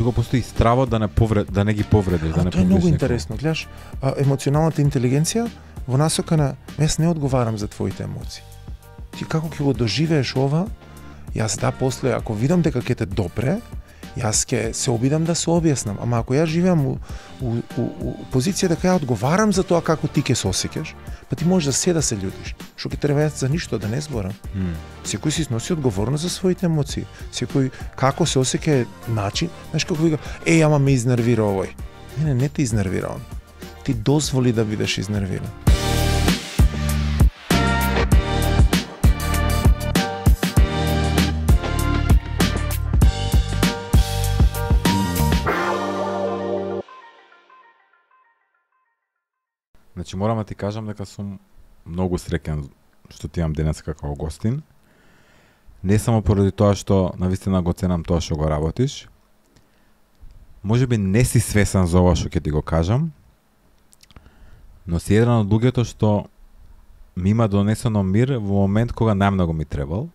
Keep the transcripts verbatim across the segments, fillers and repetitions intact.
тука постои стравот да не повред, да не ги повредиш, да не тоа е многу повредиш интересно, гледаш, а, емоционалната интелигенција во насока на јас не одговарам за твоите емоции. Ти како ќе го доживееш ова, јас да после ако видам дека ќе те допре, јас ќе се обидам да се објаснам, ама ако јас живеам у, у, у, у позиција дека ја одговарам за тоа како ти ќе се осеќаш, па ти можеш за се да се љутиш. Што ќе треба јас за ништо да не зборам. Mm. Секој си носи одговорност за своите емоции. Секој како се осеќа начин, знаеш како вика, еј, ама ме изнервира овој. Не, не, не те изнервира он. Ти дозволи да бидеш изнервиран. Значи морам да ти кажам дека сум многу среќен што ти имам денес како гостин. Не само поради тоа што навистина го ценам тоа што го работиш. Можеби не си свесен за ова што ќе ти го кажам, но си еден од луѓето што ми има донесено мир во момент кога најмногу ми требал.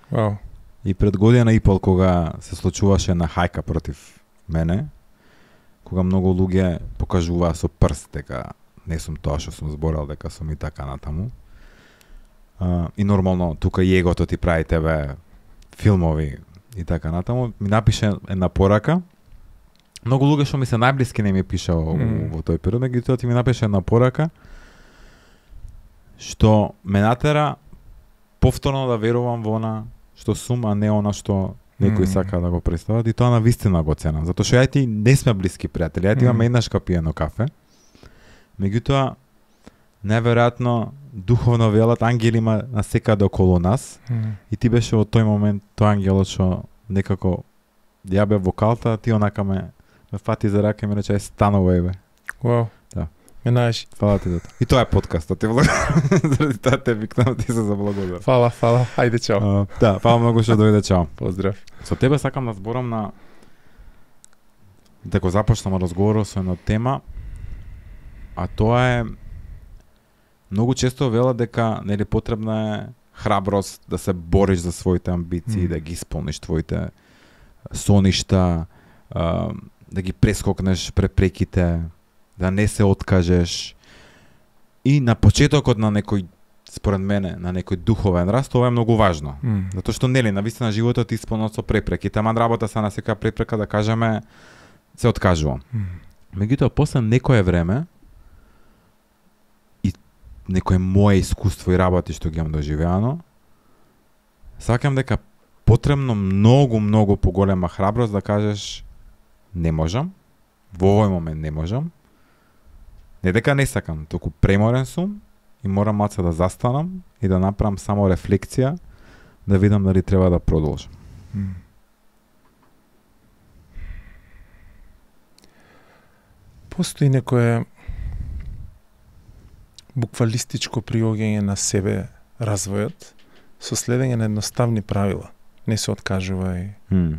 Вау. И пред година и пол кога се случуваше на хајка против мене, кога многу луѓе покажуваа со прст дека не сум тоа што сум зборал, дека сум и така натаму. Uh, и нормално, тука и егото ти прави тебе филмови и така натаму. Ми напише една порака. Многу луѓе што ми се најблиски не ми пиша во, mm. во тој период, меѓутоа ти ми напише една порака што ме натера повторно да верувам во она што сум, а не она што некој mm. сака да го представат, и тоа навистина го ценам. Затоа што ја ти не сме блиски пријатели, ја ти имаме mm. еднаш капиено кафе. Меѓутоа, неверојатно духовно велат ангели има насекаде околу нас, mm. и ти беше во тој момент тој ангелот што некако ја бе вокалта, ти онака ме ме фати за рака и ме рече е станувај бе. Вау. Да. Ме најши. Фала ти за тоа. И тоа е подкастот, ти благодарам. Заради тоа те викнам, ти се заблагодарам. Фала, фала. Ајде чао. Uh, да, фала многу што дојде, чао. Поздрав. Со тебе сакам да зборам на да го започнам разговорот со една тема, а тоа е многу често велат дека нели потребна е храброст да се бориш за своите амбиции, mm. да ги исполниш твоите соништа, а, да ги прескокнеш препреките, да не се откажеш. И на почетокот на некој, според мене, на некој духовен раст, тоа е многу важно. Mm. Затоа што нели навистина животот исполнет со препреки, тама работа се на секоја препрека да кажеме се откажувам. Mm. Меѓутоа после некое време некое мое искуство и работи што ги имам доживеано, сакам дека потребно многу, многу поголема храброст да кажеш не можам, во овој момент не можам, не дека не сакам, току преморен сум и морам малце да застанам и да направам само рефлексија, да видам дали треба да продолжам. Mm. Постои некое буквалистичко приоѓање на себе развојот со следење на едноставни правила. Не се откажувај. Mm.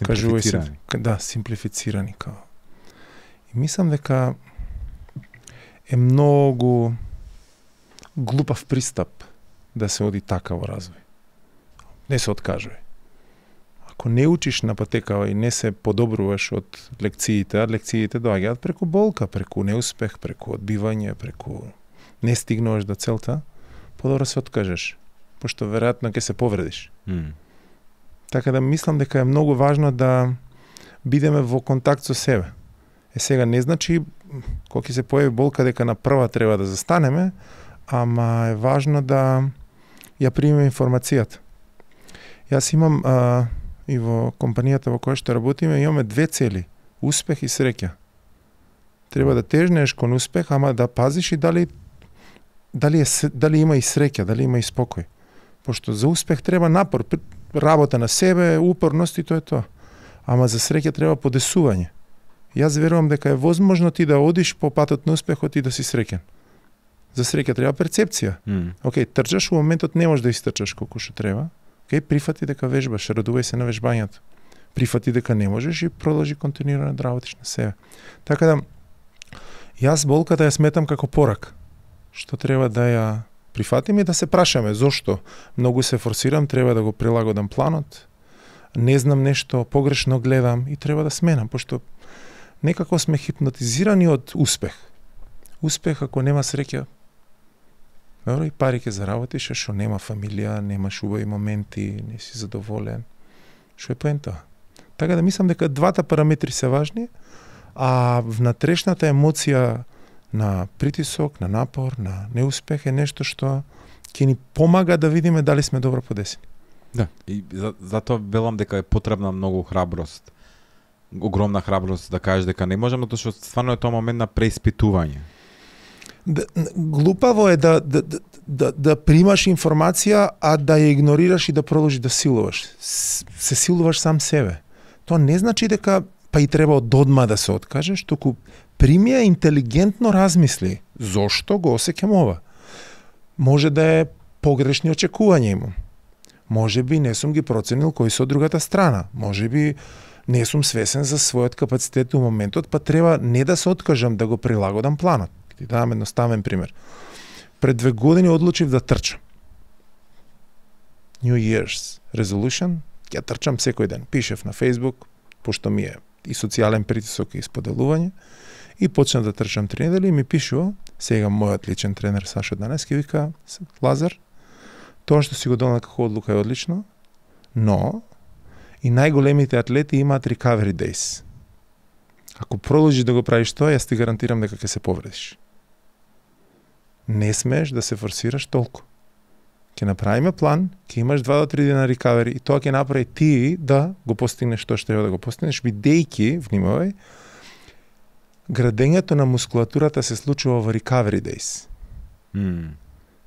Кажувај се, да, симплифицирани као. И мислам дека е многу глупав пристап да се оди така во развој. Не се откажувај. Ако не учиш на патекава и не се подобруваш од лекциите, а лекциите доаѓаат преку болка, преку неуспех, преку одбивање, преку не стигнуваш до целта, подобро се откажеш, пошто веројатно ќе се повредиш. Mm. Така да мислам дека е многу важно да бидеме во контакт со себе. Е сега не значи кога ќе се појави болка дека на прва треба да застанеме, ама е важно да ја примеме информацијата. Јас имам а, и во компанијата во која што работиме имаме две цели: успех и среќа. Треба да тежнеш кон успех, ама да пазиш и дали дали е дали има и среќа, дали има и спокој. Пошто за успех треба напор, работа на себе, упорност и тоа е тоа. Ама за среќа треба подесување. Јас верувам дека е возможно ти да одиш по патот на успехот и да си среќен. За среќа треба перцепција. Mm. Океј, трчаш, во моментот не можеш да истрчаш колку што треба. Океј, прифати дека вежбаш, радувај се на вежбањето. Прифати дека не можеш и продолжи континуирано да работиш на себе. Така да, јас болката ја сметам како порак, што треба да ја прифатиме и да се прашаме зошто многу се форсирам, треба да го прилагодам планот, не знам нешто, погрешно гледам и треба да сменам, пошто некако сме хипнотизирани од успех. Успех ако нема среќа, добро, и пари ќе заработиш, што нема фамилија, немаш убави моменти, не си задоволен. Што е поента? Така да мислам дека двата параметри се важни, а внатрешната емоција на притисок, на напор, на неуспех е нешто што ќе ни помага да видиме дали сме добро подесени. Да, и за, затоа велам дека е потребна многу храброст. Огромна храброст да кажеш дека не можам, затоа што стварно е тоа момент на преиспитување. Да, глупаво е да, да, да, да, да примаш информација, а да ја игнорираш и да продолжиш да силуваш. Се силуваш сам себе. Тоа не значи дека па и треба од одма да се откажеш, туку прими ја, интелигентно размисли. Зошто го осеќам ова? Може да е погрешни очекувања имам. Може би не сум ги проценил кои се од другата страна. Може би не сум свесен за својот капацитет у моментот, па треба не да се откажам, да го прилагодам планот. Ти давам едноставен пример. Пред две години одлучив да трчам. New Year's Resolution, ќе трчам секој ден. Пишев на Facebook, пошто ми е и социјален притисок и споделување, и почнав да трчам три недели и ми пишува, сега мојот личен тренер Сашо Данески вика, Лазар, тоа што си го донал како одлука е одлично, но и најголемите атлети имаат recovery days. Ако продолжиш да го правиш тоа, јас ти гарантирам дека ќе се повредиш. Не смееш да се форсираш толку. Ќе направиме план, ќе имаш два до три дена recovery и тоа ќе направи ти да го постигнеш тоа што треба да го постигнеш, бидејќи, внимавај, градењето на мускулатурата се случува во recovery days. Mm.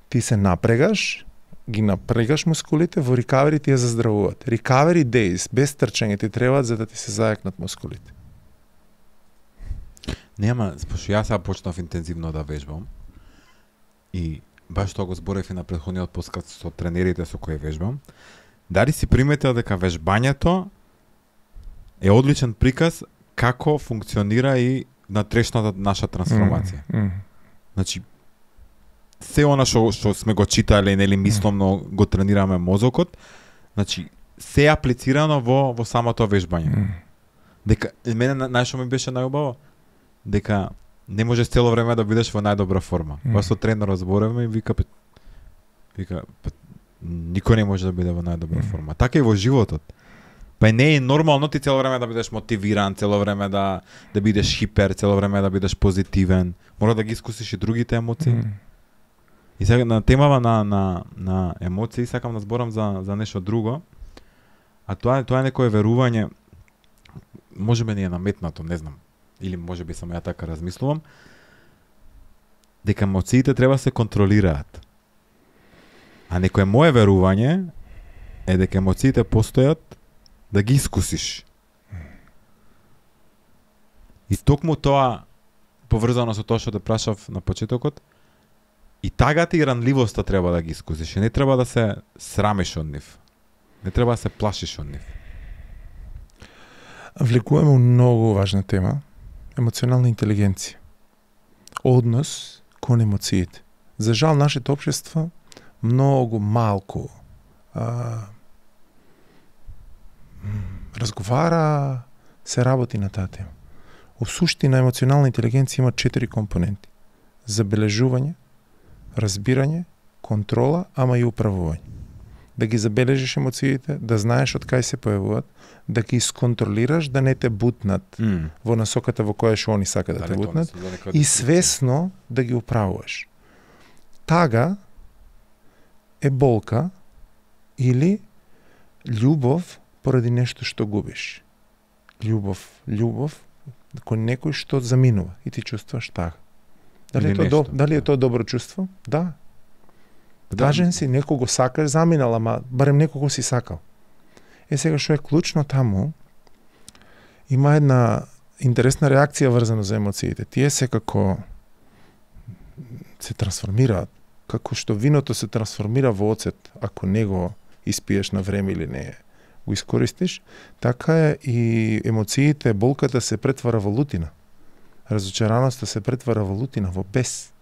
Ти се напрегаш, ги напрегаш мускулите, во recovery ти ја заздравуваат. Recovery days без трчање ти требаат за да ти се зајакнат мускулите. Нема, пошто јас сега почнав интензивно да вежбам и баш тоа го зборев и на претходниот подкаст со тренерите со кои вежбам. Дали си приметил дека вежбањето е одличен приказ како функционира и натрешната наша трансформација. Mm, mm. Значи, се она што што сме го читале, нели мисломно го тренираме мозокот, значи се е аплицирано во во самото вежбање. Mm. Дека мене најшто ми беше најубаво дека не можеш цело време да бидеш во најдобра форма. Mm. Па со тренерот зборевме и вика вика никој не може да биде во најдобра Mm. форма. Така и во животот. Па не е нормално ти цело време да бидеш мотивиран, цело време да да бидеш хипер, цело време да бидеш позитивен. Мора да ги искусиш и другите емоции. Mm. И сега на темава на на на емоции сакам да зборам за за нешто друго. А тоа е тоа е некое верување, можеби не е наметнато, не знам. Или можеби само ја така размислувам, дека емоциите треба се контролираат. А некое мое верување е дека емоциите постојат да ги искусиш. И токму тоа, поврзано со тоа што те прашав на почетокот, и тагата и ранливоста треба да ги искусиш. И не треба да се срамиш од нив. Не треба да се плашиш од нив. Влегуваме многу важна тема, емоционална интелигенција. Однос кон емоциите. За жал, нашето општество многу малку а, разговара, се работи на таа тема. У суштина, емоционална интелигенција има четири компоненти. Забележување, разбирање, контрола, ама и управување. Да ги забележиш емоциите, да знаеш од кај се појавуваат, да ги исконтролираш, да не те бутнат Mm. во насоката во која што они сака да, Дали те тоа бутнат, не се за некоја и дискусија? свесно да ги управуваш. Тага е болка или љубов поради нешто што губиш. Љубов, љубов кон некој што заминува и ти чувствуваш тага. Дали Или е тоа до, нешто, дали е да. тоа добро чувство? Да. Да. Важен си, некого сакаш, заминал, ама барем некого си сакал. Е сега што е клучно таму, има една интересна реакција врзана за емоциите. Тие се како се трансформираат, како што виното се трансформира во оцет, ако не го испиеш на време или не го искористиш, така е и емоциите, болката се претвара во лутина. Разочараноста се претвара во лутина, во бес.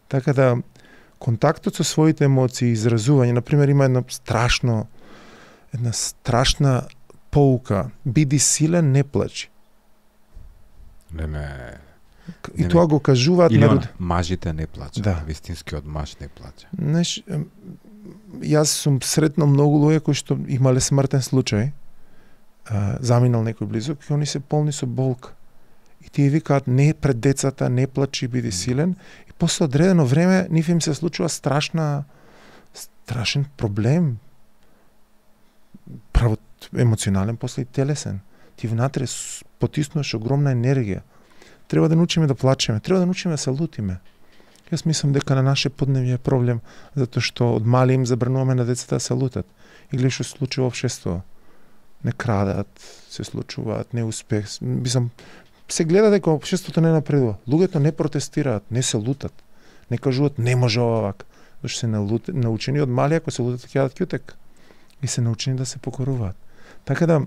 Така да, контактот со своите емоции, изразување, например, има едно страшно, една страшна поука, биди силен, не плачи. Не, не. И Не, тоа го кажуваат Или народ. он, мажите не плачат. Да. Вистинскиот маж не плаче. Знаеш, ем, јас сум сретнал многу луѓе кои што имале смртен случај, а, заминал некој близок, и они се полни со болка. И тие викаат, не пред децата, не плачи, биди силен. И после одредено време нив им се случува страшна, страшен проблем. Право емоционален, после и телесен. Ти внатре с- потиснуваш огромна енергија. Треба да научиме да плачеме, треба да научиме да се лутиме. Јас мислам дека на наше подневје е проблем, затоа што од мали им забрануваме на децата да се лутат. И гледа што се случува во општество. Не крадат, се случуваат, неуспех. Мислам, се гледа дека општеството не напредува. Луѓето не протестираат, не се лутат. Не кажуваат не може ова вака. Зашто се налут, научени од мали, ако се лутат ќе јадат ќутек. И се научени да се покоруваат. Така да,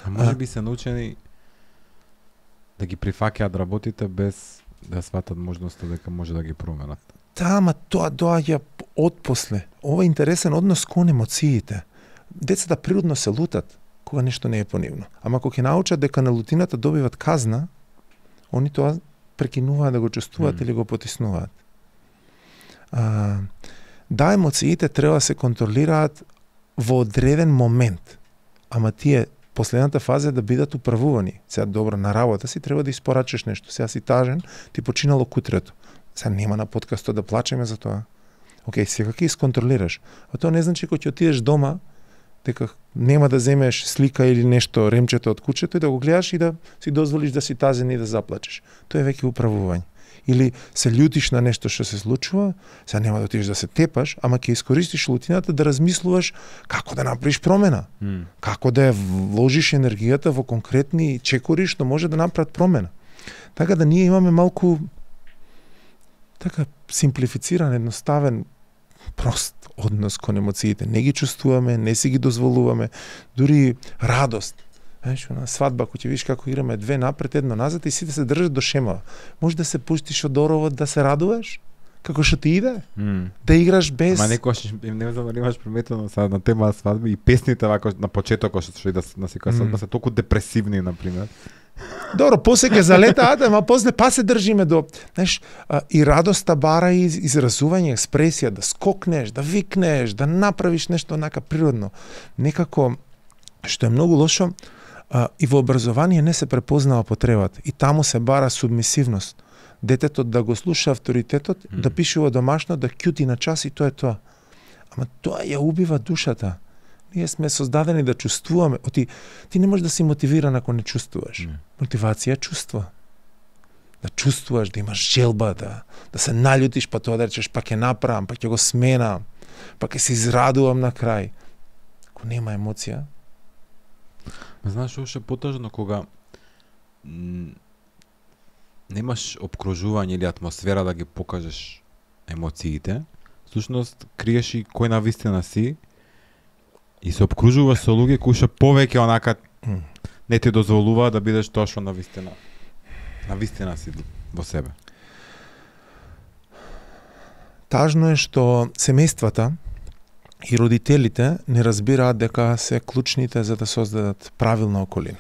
А може А. би се научени да ги прифаќаат работите без да сватат можноста дека може да ги променат. да, ама тоа доаѓа отпосле. Ова е интересен однос кон емоциите. Децата природно се лутат кога нешто не е понивно. Ама кога ќе научат дека на лутината добиват казна, они тоа прекинуваат да го чувствуваат Мм. или го потиснуваат. А, да, емоциите треба да се контролираат во одреден момент. Ама тие последната фаза е да бидат управувани. Сега добро на работа си треба да испорачаш нешто. Сега си тажен, ти починало кутрето. Сега нема на подкастот да плачеме за тоа. Океј, сега ќе исконтролираш. А тоа не значи кога ќе отидеш дома, дека нема да земеш слика или нешто, ремчето од кучето и да го гледаш и да си дозволиш да си тазен и да заплачеш. Тоа е веќе управување. Или се љутиш на нешто што се случува, сега нема да отидеш да се тепаш, ама ќе искористиш лутината да размислуваш како да направиш промена. М. Како да ја вложиш енергијата во конкретни чекори што може да направат промена. Така да ние имаме малку така симплифициран, едноставен, прост однос кон емоциите. Не ги чувствуваме, не си ги дозволуваме, дури радост. Знаеш, на свадба, кој ќе видиш како играме две напред, едно назад и сите се држат до шемава. Може да се пуштиш од оровот да се радуваш? Како што ти иде? М. Да играш без... Ама некојаш им не знам дали имаш приметено сега на тема свадби и песните вака на почетокот што и да на секоја свадба Мм. се толку депресивни на пример. Добро, после ќе залетаат, ама после па се држиме до, знаеш, а, и радоста бара и из- изразување, експресија, да скокнеш, да викнеш, да направиш нешто онака природно. Некако, што е многу лошо, а, и во образование не се препознава потребата. И таму се бара субмисивност. Детето да го слуша авторитетот, Мм. да пишува домашно, да кјути на час и тоа е тоа. Ама тоа ја убива душата. Ние сме создадени да чувствуваме. Оти, ти не можеш да си мотивиран ако не чувствуваш. Не. Мотивација е чувство. Да чувствуваш, да имаш желба, да, да се наљутиш, па тоа да речеш, па ќе направам, па ќе го сменам, па ќе се израдувам на крај. Ако нема емоција, Ма знаеш што е потажно кога м, немаш обкружување или атмосфера да ги покажеш емоциите, всушност криеш и кој навистина си и се обкружуваш со луѓе кои што повеќе онака М. не ти дозволува да бидеш тоа што навистина навистина си во себе. тажно е што семејствата и родителите не разбираат дека се клучните за да создадат правилна околина.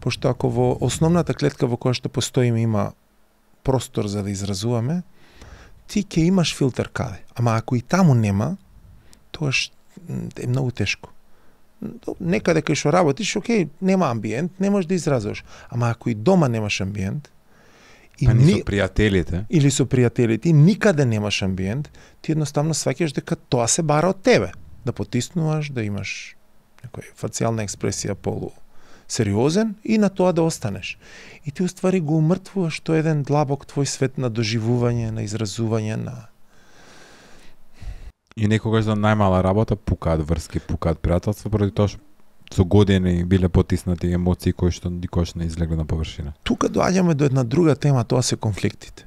Пошто ако во основната клетка во која што постоиме има простор за да изразуваме, ти ќе имаш филтер каде. Ама ако и таму нема, тоа е многу тешко. Некаде кај што работиш, окей, нема амбиент, не можеш да изразуваш. Ама ако и дома немаш амбиент, и Па ни ни... со пријателите. или со пријателите, и никаде немаш амбиент, ти едноставно сваќаш дека тоа се бара од тебе. Да потиснуваш, да имаш некоја фацијална експресија полу сериозен и на тоа да останеш. И ти уствари го умртвуваш тој еден длабок твој свет на доживување, на изразување, на... И некогаш за најмала работа пукаат врски, пукаат пријателства, поради тоа што со години биле потиснати емоции кои што никош не излегле на површина. Тука доаѓаме до една друга тема, тоа се конфликтите.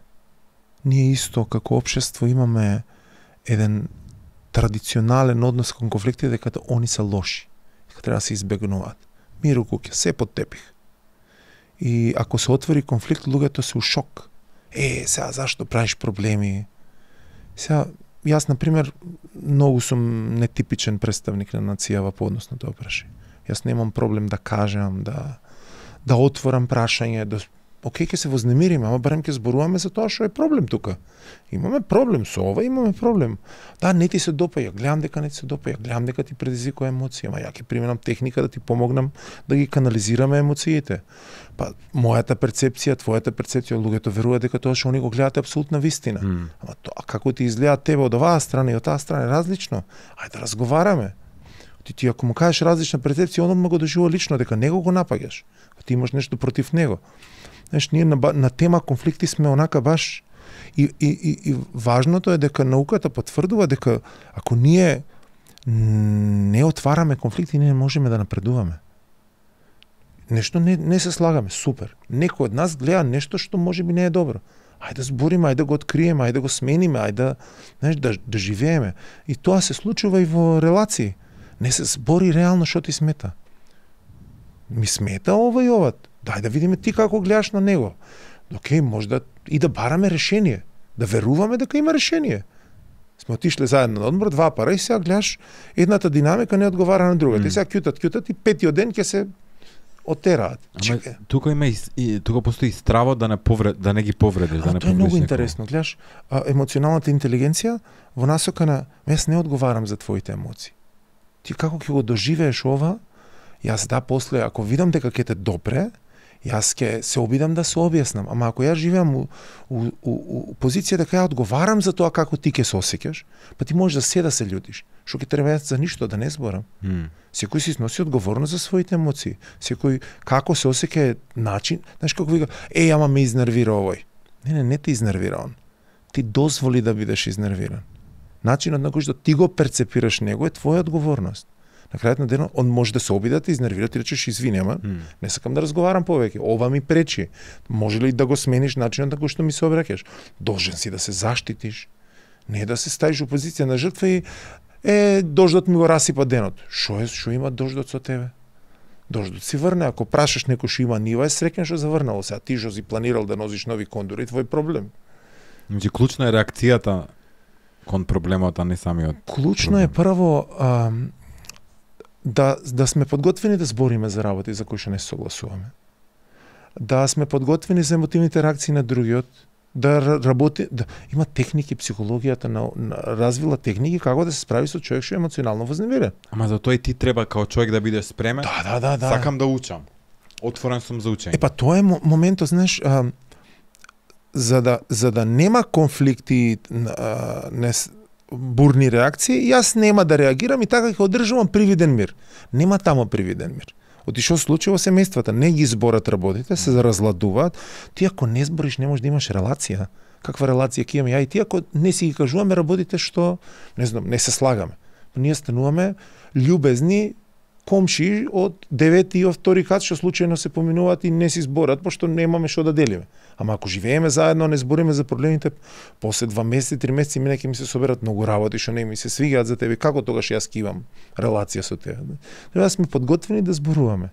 Ние исто како општество имаме еден традиционален однос кон конфликтите дека они се лоши, дека треба да се избегнуваат. Мир у куќа, се под тепих. И ако се отвори конфликт, луѓето се у шок. Е, сега зашто правиш проблеми? Сега, јас, например, многу сум нетипичен представник на нацијава по однос на тоа прашање. Јас немам проблем да кажам, да да отворам прашање, да окей, ќе се вознемириме, ама барем ќе зборуваме за тоа што е проблем тука. Имаме проблем со ова, имаме проблем. Да, не ти се допаѓа, гледам дека не ти се допаѓа, гледам дека ти предизвикува емоција, ама ја ќе применам техника да ти помогнам да ги канализираме емоциите. Па мојата перцепција, твојата перцепција, луѓето веруваат дека тоа што они го гледаат е апсолутна вистина. Mm. Ама тоа како ти изгледа тебе од оваа страна и од таа страна е различно. Ајде да разговараме. Ти ти ако му кажеш различна перцепција, он го доживува лично дека него го напаѓаш. Ти имаш нешто против него. Знаеш, ние на, на тема конфликти сме онака баш и, и, и, и важното е дека науката потврдува дека ако ние не отвараме конфликти, ние не можеме да напредуваме. Нешто не, не се слагаме, супер. Некој од нас гледа нешто што можеби не е добро. Ајде да збориме, ајде да го откриеме, ајде да го смениме, ајде да, знаеш, да, да живееме. И тоа се случува и во релации. Не се збори реално што ти смета. Ми смета ова и ова. Дај да видиме ти како гледаш на него. Океј, може да и да бараме решение, да веруваме дека има решение. Сме отишле заедно на одмор, два пара и сега гледаш едната динамика не одговара на другата. Mm. И сега кјутат, кјутат и петиот ден ќе се отераат. Ама тука има и, и тука постои страво да не повред, да не ги повредиш, а, да не тоа е многу некого. интересно, гледаш, а, емоционалната интелигенција во насока на јас не одговарам за твоите емоции. Ти како ќе го доживееш ова? Јас да после ако видам дека ќе те допре, јас ќе се обидам да се објаснам, ама ако јас живеам у, у, у, у позиција дека ја одговарам за тоа како ти ќе се осеќаш, па ти можеш да се да се љутиш. Што ќе треба за ништо да не зборам. Mm. Секој си носи одговорност за своите емоции. Секој како се осеќа е начин, знаеш како вика, еј, ама ме изнервира овој. Не, не, не те изнервира он. Ти дозволи да бидеш изнервиран. Начинот на кој што ти го перцепираш него е твоја одговорност. На крајот на денот он може да се обиде да те изнервира, ти речеш извини, ама mm. не сакам да разговарам повеќе. Ова ми пречи. Може ли да го смениш начинот на кој што ми се обраќаш? Должен си да се заштитиш. Не да се ставиш у позиција на жртва и е дождот ми го расипа денот. Што е, што има дождот со тебе? Дождот си врне, ако прашаш некој што има нива, е среќен што заврнало. Сега ти што си планирал да носиш нови кондури, твој проблем. Значи клучна е реакцијата кон проблемот, а не самиот. Клучно е прво а, да да сме подготвени да збориме за работи за кои што не се согласуваме. Да сме подготвени за емотивните реакции на другиот, да работи, да има техники, психологијата на, на развила техники како да се справи со човек што е емоционално вознемирен. Ама за тоа и ти треба као човек да бидеш спремен. Да, да, да, да. Сакам да учам. Отворен сум за учење. Е па тоа е моментот, знаеш, а, за да за да нема конфликти, а, не бурни реакции, јас нема да реагирам и така ќе одржувам привиден мир. Нема тамо привиден мир. Оти што случи во семејствата, не ги зборат работите, се разладуваат. Ти ако не збориш, не можеш да имаш релација. Каква релација ќе имаме ја и ти ако не си ги кажуваме работите што, не знам, не се слагаме. Ние стануваме љубезни комши од девети и од втори кат што случајно се поминуваат и не си зборат, пошто немаме што да делиме. Ама ако живееме заедно, не збориме за проблемите, после два месеци, три месеци мене ќе ми се соберат многу работи што не ми се свигаат за тебе. Како тогаш јас ќе имам релација со тебе? Треба да сме подготвени да зборуваме.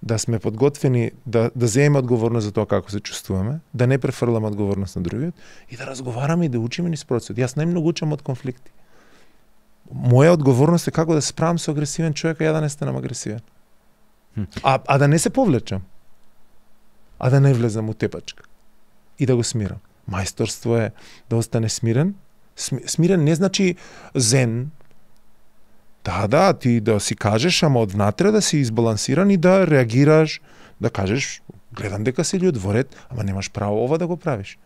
Да сме подготвени да да земеме одговорност за тоа како се чувствуваме, да не префрламе одговорност на другиот и да разговараме и да учиме низ процесот. Јас најмногу учам од конфликти. Моја одговорност е како да се справам со агресивен човек, а ја да не станам агресивен. А, а да не се повлечам. А да не влезам у тепачка. И да го смирам. Мајсторство е да остане смирен. Смирен не значи зен. Да, да, ти да си кажеш, ама одвнатре да си избалансиран и да реагираш, да кажеш, гледам дека си људ во ред, ама немаш право ова да го правиш.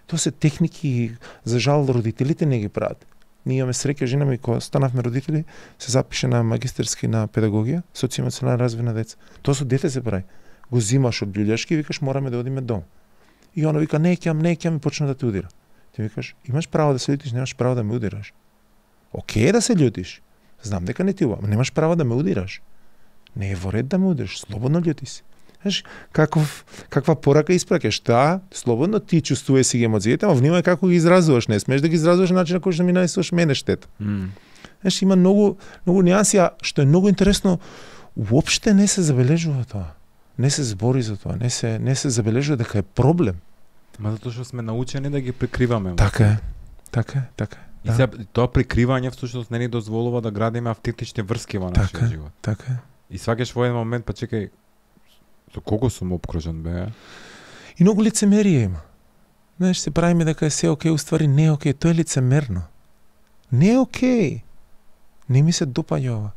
Тоа се техники, за жал родителите не ги прават. Ние имаме среќа, жена ми кога станавме родители, се запише на магистерски на педагогија, социјално развој на деца. Тоа со дете се прави. Го зимаш од љулјашки и викаш мораме да одиме дом. И оно вика не ќам, не ќам и почна да те удира. Ти викаш имаш право да се љутиш, немаш право да ме удираш. Океј да се љутиш. Знам дека не ти ува, но немаш право да ме удираш. Не е во ред да ме удираш, слободно љути си. Знаеш, каков, каква порака испраќаш? Та, слободно ти чувствувај си ги емоциите, ама внимај како ги изразуваш, не смееш да ги изразуваш на начин на кој што ми нанесуваш мене штета. Mm. Знаеш, има многу, многу нијанси, а што е многу интересно, уопште не се забележува тоа. Не се збори за тоа, не се не се забележува дека е проблем. Ма затоа што сме научени да ги прикриваме. Така е. Така е, така е. И сега тоа прикривање всушност не ни дозволува да градиме автентични врски во нашиот така, живот. Така е. И сваќаш во еден момент, па чекај, со кого сум обкружен, бе? И многу лицемерие има. Знаеш, се правиме дека е се окей, уствари не е окей, тоа е лицемерно. Не е окей. Не ми се допаѓа ова.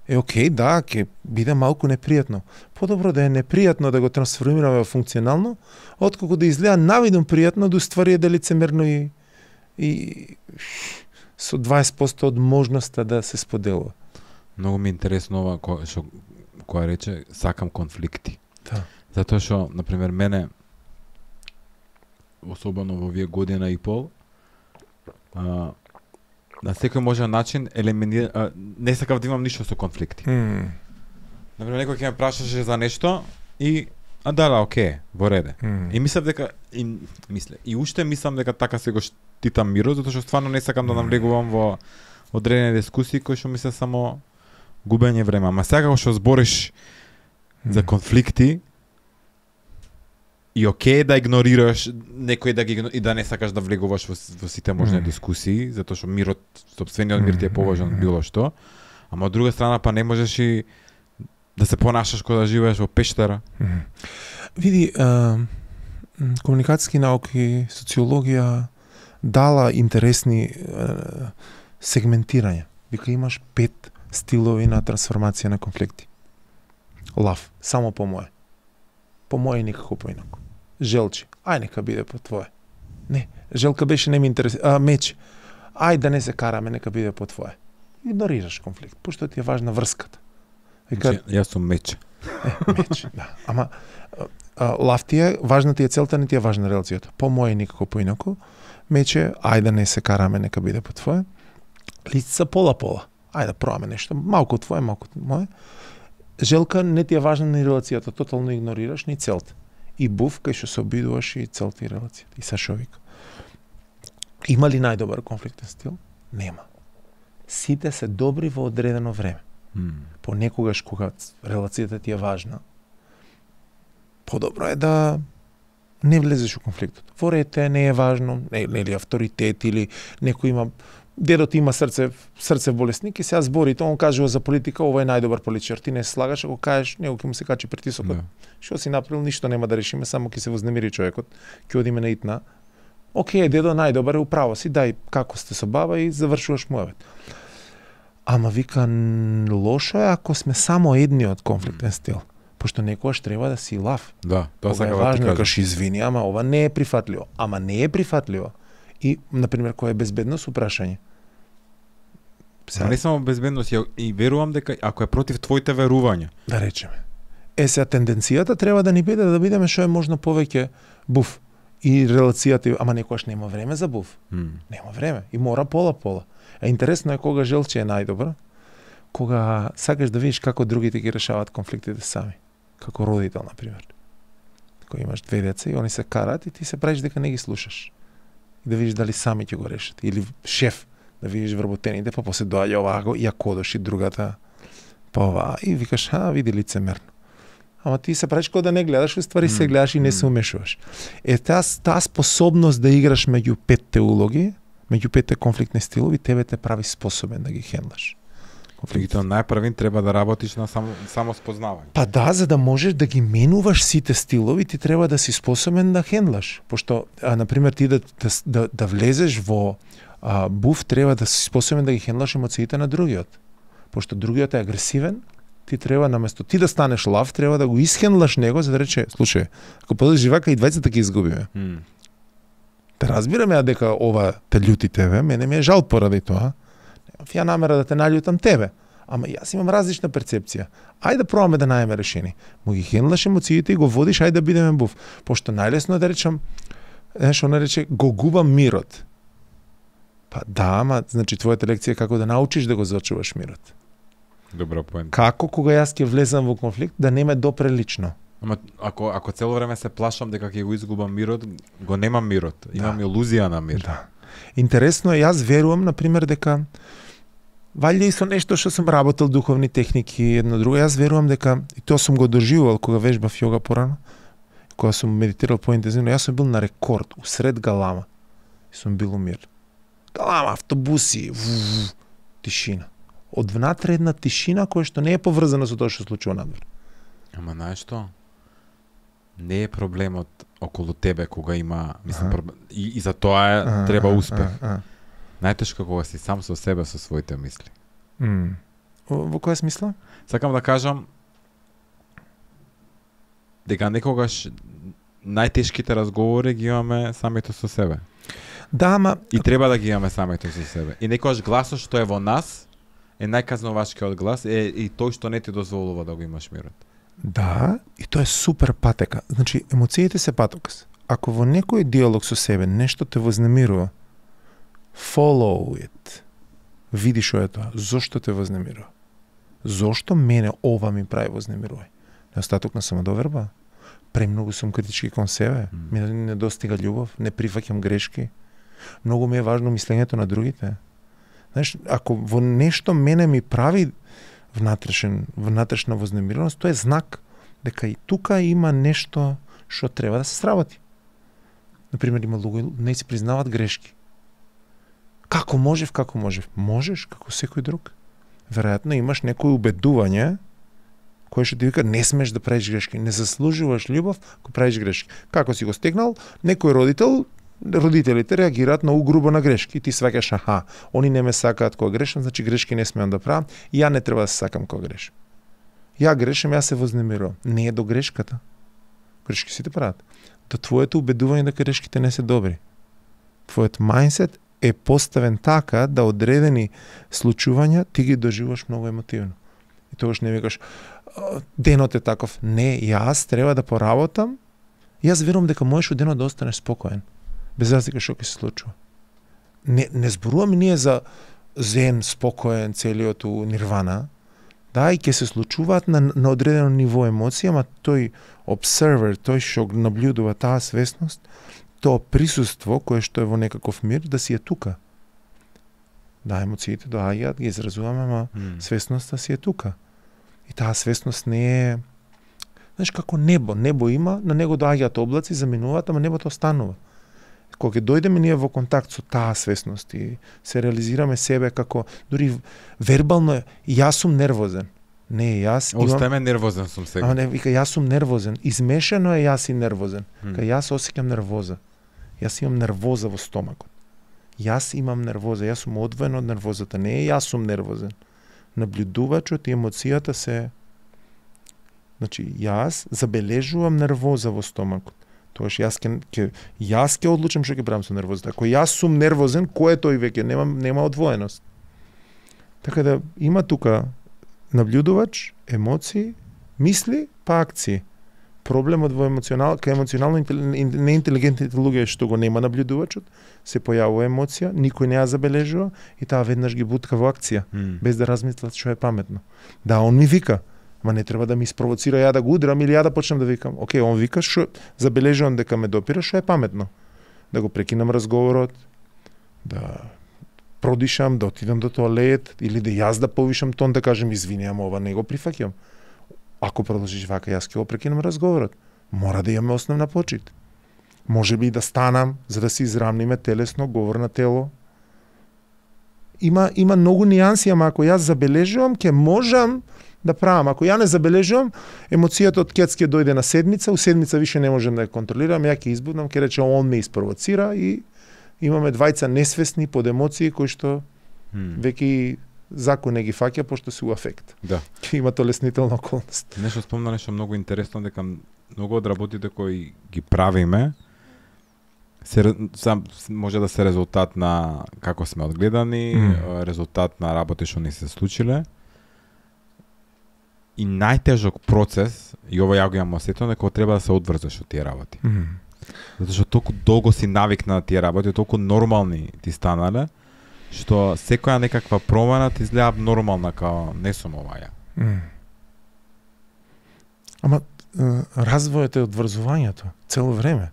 Е окей, да, ќе биде малку непријатно. Подобро да е непријатно да го трансформираме во функционално, отколку да изгледа навидно пријатно да уствари е да лицемерно и и со дваесет проценти од можноста да се споделува. Многу ми е интересно ова која што која рече сакам конфликти. Да. Затоа што на пример мене особено во овие година и пол а, на секој можен начин елиминира а, не сакав да имам ништо со конфликти. Mm. Например, некој ќе ме прашаше за нешто и а да, да, окей, во реде. Mm. И мислев дека и мисле, и уште мислам дека така се го штитам мирот, затоа што стварно не сакам да навлегувам во одредени дискусии кои што ми се само губење време. Ама сега кога што збориш Mm. за конфликти и окей да игнорираш некој да ги игно- и да не сакаш да влегуваш во, во сите можни Mm. дискусии, затоа што мирот, сопствениот мир ти е поважен од било што. Ама од друга страна па не можеш и да се понашаш кога да живееш во пештера. Mm. Види, а, м, комуникацијски науки, социологија дала интересни а, сегментирања. Вика имаш пет стилови на трансформација на конфликти. Лав, само по моје. По моје никако поинаку. Желчи, ај нека биде по твое. Не, желка беше не ми интересира. А, меч, ај да не се караме, нека биде по твое. Игнорираш конфликт, пошто ти е важна врската. Вика, Значи, јас сум меч. Е, меч, да. Ама а, лав ти е, важна ти е целта, не ти е важна релацијата. По моје никако поинаку. Мече, ај да не се караме, нека биде по твое. Лицица пола-пола. Ај да пробаме нешто, малку твое, малку моје. Желка не ти е важна ни релацијата, тотално игнорираш ни целта. И був кај што се обидуваш и целта и релацијата. И Сашо вика. Има ли најдобар конфликтен стил? Нема. Сите се добри во одредено време. Mm. Понекогаш кога релацијата ти е важна, подобро е да не влезеш во конфликтот. Во рете не е важно, не, нели авторитет или некој има дедот има срце срце болесник и сега зборите, он кажува за политика, ова е најдобар политичар. Ти не се слагаш, ако кажеш, него ќе му се качи притисокот. Да. Што си направил, ништо нема да решиме, само ќе се вознемири човекот. Ќе одиме на итна. Океј, дедо најдобар е, управо си, дај како сте со баба и завршуваш муавет. Ама вика, лошо е ако сме само едниот конфликтен стил. Пошто некогаш треба да си лав. Да, тоа Ова е сакав да ти важно, кажам. кажеш извини, ама ова не е прифатливо. Ама не е прифатливо. И, например, која е безбедност упрашање. Сега не само безбедност, ја, и верувам дека ако е против твоите верувања. Да речеме. Е, сега тенденцијата треба да ни биде да бидеме што е можно повеќе буф. И релацијата, ама некогаш нема време за буф. Mm. Нема време. И мора пола-пола. А интересно е кога желче е најдобра, кога сакаш да видиш како другите ги решаваат конфликтите сами. Како родител, например. Кога имаш две деца и они се карат и ти се правиш дека не ги слушаш. И да видиш дали сами ќе го решат. Или шеф, да видиш вработените, па после доаѓа оваа, ја кодош и другата, па оваа, и викаш, а, види лицемерно. Ама ти се правиш кога да не гледаш, уствари се гледаш и не се умешуваш. Е, таа, таа способност да играш меѓу петте улоги, меѓу петте конфликтни стилови, тебе те прави способен да ги хендлаш. Конфликтот најпрвин треба да работиш на само, само спознавање. Па да, за да можеш да ги менуваш сите стилови, ти треба да си способен да хендлаш. Пошто, а, например, ти да, да, да, да влезеш во а, буф, треба да си способен да ги хендлаш емоциите на другиот. Пошто другиот е агресивен, ти треба наместо ти да станеш лав, треба да го исхендлаш него за да рече, слушај, ако продолжиш вака и двајцата ќе изгубиме. Mm. Те разбираме ја дека ова те љути тебе, мене ми е жал поради тоа. Немав ја намера да те наљутам тебе, ама јас имам различна перцепција. Ајде да пробаме да најдеме решение. Му ги хендлаш емоциите и го водиш, ајде да бидеме буф. Пошто најлесно е да речам, знаеш, она рече, го губам мирот. Па да, ама, значи, твојата лекција е како да научиш да го зачуваш мирот. Добра поента. Како кога јас ќе влезам во конфликт, да не ме допре лично. Ама ако ако цело време се плашам дека ќе го изгубам мирот, го немам мирот. Имам илузија на мир. Да. Интересно е, јас верувам, например, дека валјда и со нешто што сум работел духовни техники, едно друго, јас верувам дека, и тоа сум го доживувал кога вежбав јога порано, кога сум медитирал поинтензивно, јас сум бил на рекорд, усред галама. И сум бил у мир. Галама, автобуси, ву, тишина. од внатре една тишина која што не е поврзана со тоа што се случува надвор. Ама знаеш што? Не е проблемот околу тебе кога има, мислам, Аха. проблем, и, и за тоа е, А, треба а, успех. а, а. Најтешко кога си сам со себе, со своите мисли. М. Во, во која смисла? Сакам да кажам дека некогаш најтешките разговори ги имаме самите со себе. Да, ама И треба да ги имаме самите со себе. И некогаш гласот што е во нас е најказновачкиот глас е и тој што не ти дозволува да го имаш мирот. да, и тоа е супер патека. Значи, емоциите се патокас. Ако во некој диалог со себе нешто те вознемирува, follow it. Види што е тоа. Зошто те вознемирува? Зошто мене ова ми прави вознемирување? Неостаток на самодоверба? Премногу сум критички кон себе? Мм. Ми не достига љубов? Не прифаќам грешки? Многу ми е важно мислењето на другите. Знаеш, ако во нешто мене ми прави внатрешен, внатрешна вознемиреност, тоа е знак дека и тука има нешто што треба да се сработи. Например, има луѓе не си признаваат грешки. Како можев, како можев? Можеш, како секој друг. Веројатно имаш некој убедување кој што ти вика не смеш да правиш грешки, не заслужуваш љубов ако правиш грешки. Како си го стегнал, некој родител, родителите реагираат многу грубо на грешки. Ти сваќаш, аха, они не ме сакаат кога грешам, значи грешки не смеам да правам, и ја не треба да се сакам кога грешам. Ја грешам, ја се вознемирувам. Не е до грешката. Грешки сите прават. До твоето убедување дека грешките не се добри. Твојот мајндсет е поставен така да одредени случувања ти ги доживуваш многу емотивно. И тогаш не викаш «А, денот е таков». Не, јас треба да поработам. Јас верувам дека можеш од денот да останеш спокоен, без разлика што ќе се случува. Не, не зборуваме ние за зен, спокоен, целиот у нирвана. Да, и ќе се случуваат на, на одредено ниво емоција, ама тој observer, тој што го наблюдува таа свесност, тоа присуство кое што е во некаков мир, да си е тука. Да, емоциите доаѓаат, ги изразуваме, ама Мм. свесноста си е тука. И таа свесност не е... Знаеш, како небо. Небо има, на него доаѓаат облаци, заминуваат, ама небото останува. Кога ќе дојдеме ние во контакт со таа свесност и се реализираме себе како... Дури вербално е, јас сум нервозен. Не, јас имам... Остајме нервозен сум сега. Ама не, вика, јас сум нервозен. Измешано е јас и нервозен. Мм. Кај јас осеќам нервоза. Јас имам нервоза во стомакот. Јас имам нервоза, јас сум одвоен од нервозата. Не е јас сум нервозен. Наблюдувачот и емоцијата се... Значи, јас забележувам нервоза во стомакот. Тоаш јас ке, ке јас ќе одлучам што ќе правам со нервозата. Ако јас сум нервозен, кој е тој веќе? Нема нема одвоеност. Така да има тука наблюдувач, емоции, мисли, па акции. Проблемот во емоционал, кај емоционално интел- неинтелигентните луѓе е што го нема наблюдувачот, се појавува емоција, никој не ја забележува и таа веднаш ги бутка во акција, Мм. без да размислат што е паметно. Да, он ми вика, ма не треба да ми спровоцира ја да го удрам или ја да почнам да викам. Океј, он вика што забележувам дека ме допира, што е паметно. Да го прекинам разговорот, да продишам, да отидам до тоалет или да јас да повишам тон, да кажем извини, ама ова не го прифаќам. Ако продолжиш вака, јас ќе го прекинам разговорот. Мора да имаме основна почит. Може би да станам за да се израмниме телесно, говор на тело. Има има многу нијанси, ама ако јас забележувам, ќе можам да правам. Ако ја не забележувам, емоцијата од кец ќе дојде на седмица, у седмица више не можам да ја контролирам, ја ќе избудам, ќе рече он ме испровоцира и имаме двајца несвесни под емоции кои што Мм. веќе закон не ги фаќа пошто се у афект. Да. Ќе има толеснителна околност. Нешто спомна нешто многу интересно, дека многу од работите кои ги правиме се ре- сам може да се резултат на како сме одгледани, Мм. е, резултат на работи што ни се случиле. И најтежок процес, и ова ја го имам осетено, дека треба да се одврзеш од тие работи. Затоа што толку долго си навикна на тие работи, толку нормални ти станале, што секоја некаква промена ти изгледа нормална, као не сум ова ја. М. Ама е, развојот е одврзувањето цело време.